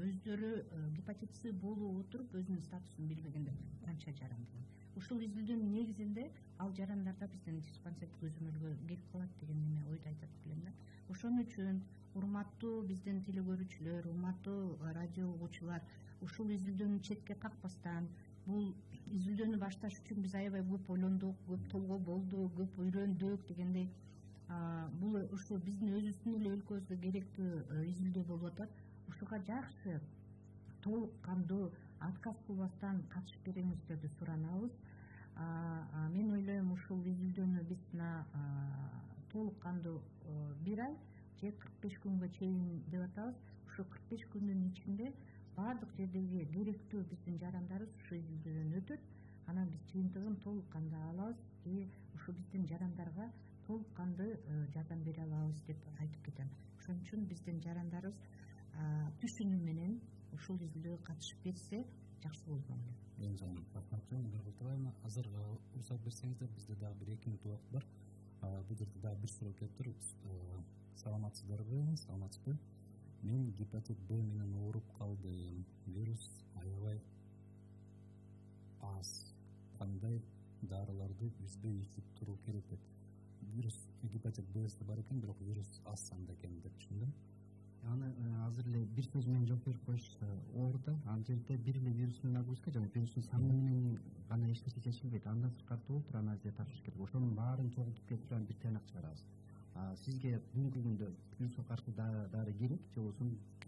өздөрү гепатит С болуп отуруп өзүнүн статусун билбегендер канча жаран деген. Ушул изилдөөнүн негизинде ал жарандарда биздин диспансердик көзөмөлгө келип калат деген эме ойду айтат элем да. Ошон үчүн урматтуу биздин телекөрүүчүлөр, урматтуу радио угуучулар, ушул изилдөөнү четке какпастан, бул изилдөөнү башташ үчүн биз аябай көп ойлондук, көп толгоо болду, көп үйрөндүк дегендей. Бул ушу биздин өзүбүздүн эле өлкөбүзгө керектүү изилдөө болуп атат. Ушуга жакшы толук кандуу отказ кылбастан катышып бериңиздерди суранабыз. Мен ойлойм, ушул изилдөөнү биз толук кандуу бир ай же кырк беш күнгө чейин деп атабыз. Ушу кырк беш күндүн ичинде баардык жердеги керектүү биздин жарандарыбыз ушу изилдөөдөн өтөт. Анан биз жыйынтыгын толук кандуу алабыз и ушу биздин жарандарга толук кандуу жардам бере алабыз деп айтып кетем. Ошон үчүн биздин жарандарыбыз түшүнүү менен ушул изилдөөгө катышып берсе жакшы болот эле. Эң сонун. Рахмат. Азыр уруксат берсеңиздер, бизде дагы бир эки мүнөт убакыт бар. Бул жерде дагы бир суроо келип тур. Саламатсыздарбы? Саламатсызбы? Мен гепатит Б менен ооруп калдым. Вирус аябай аз. Кандай дарыларды үзбөй ичип туруу керек деп. Вирус гепатит Б бар экен, бирок вирус аз санда экен деп түшүндүм. аны азыр эле бир сөз менен жооп берип коюш оор да. Ал жерде бир эле вирусный нагрузка жана вирустун саны менен гана эч нерсе чечилбейт. Андан сырткары болуп анализге тапшырыш керек. Ошонун баарын чогултуп келип турган бир тыйнак чыгарабыз. Сизге бүгүнкү күндө вируско каршы дары керек же болбосо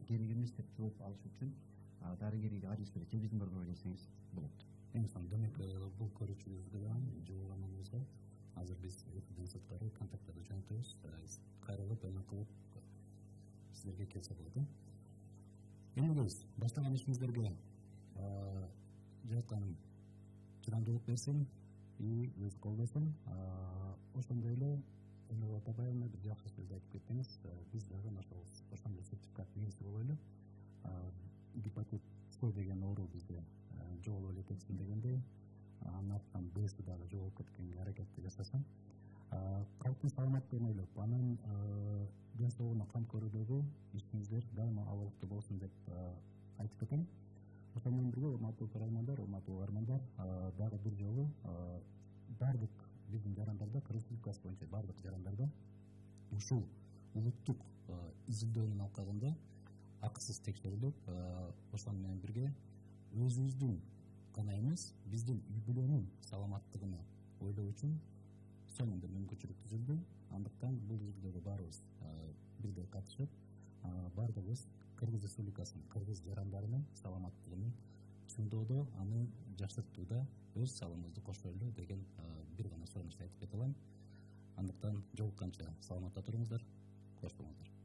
керек эмес деп жооп алыш үчүн дарыгерге адрес берет же биздин борборго келсеңиз болот. Эң сонун демек бул көрүүчүбүздү жоголганыбызга азыр биз эфирден сырткары контакттарды жөнөтөбүз. Кайрылып эме кылып силерге келсе болот. Эми баштаган ишиңиздерге жаратканым чыдамдуулук берсин и өз кол берсин. Ошондой эле Эле Атабаевна бир жакшы сөз айтып кеттиңиз. Биз дагы ошол ошондой сертификат ээси болойлу. Гепатит С деген оору бизде жоголуп эле кетсин дегендей, анын артынан Б'си дагы жоголуп кеткенге аракетти жасасын. Калктын саламаттыгын ойлоп, анын ден соолугуна кам көрүүдөгү ишиңиздер дайыма абалыктуу болсун деп айтып кетем. Ошол менен бирге урматтуу көрөрмандар, урматтуу угармандар, дагы бир жолу бардык биздин жарандарда, Кыргыз Республикасы боюнча бардык жарандарда ушул улуттук изилдөөнүн алкагында акысыз текшерилип, ошол менен бирге өзүбүздүн гана эмес, биздин үй бүлөнүн саламаттыгына ойлоо үчүн сонун бир мүмкүнчүлүк түзүлдү. Андыктан бул изилдөөгө баарыбыз бирдей катышып, бардыгыбыз Кыргыз Республикасынын кыргыз жарандарынын саламаттыгын чыңдоодо, аны жакшыртууда өз салымыбызды кошойлу деген бир гана сунушту айтып кете алам. Андыктан жолукканча саламатта туруңуздар, кош болуңуздар.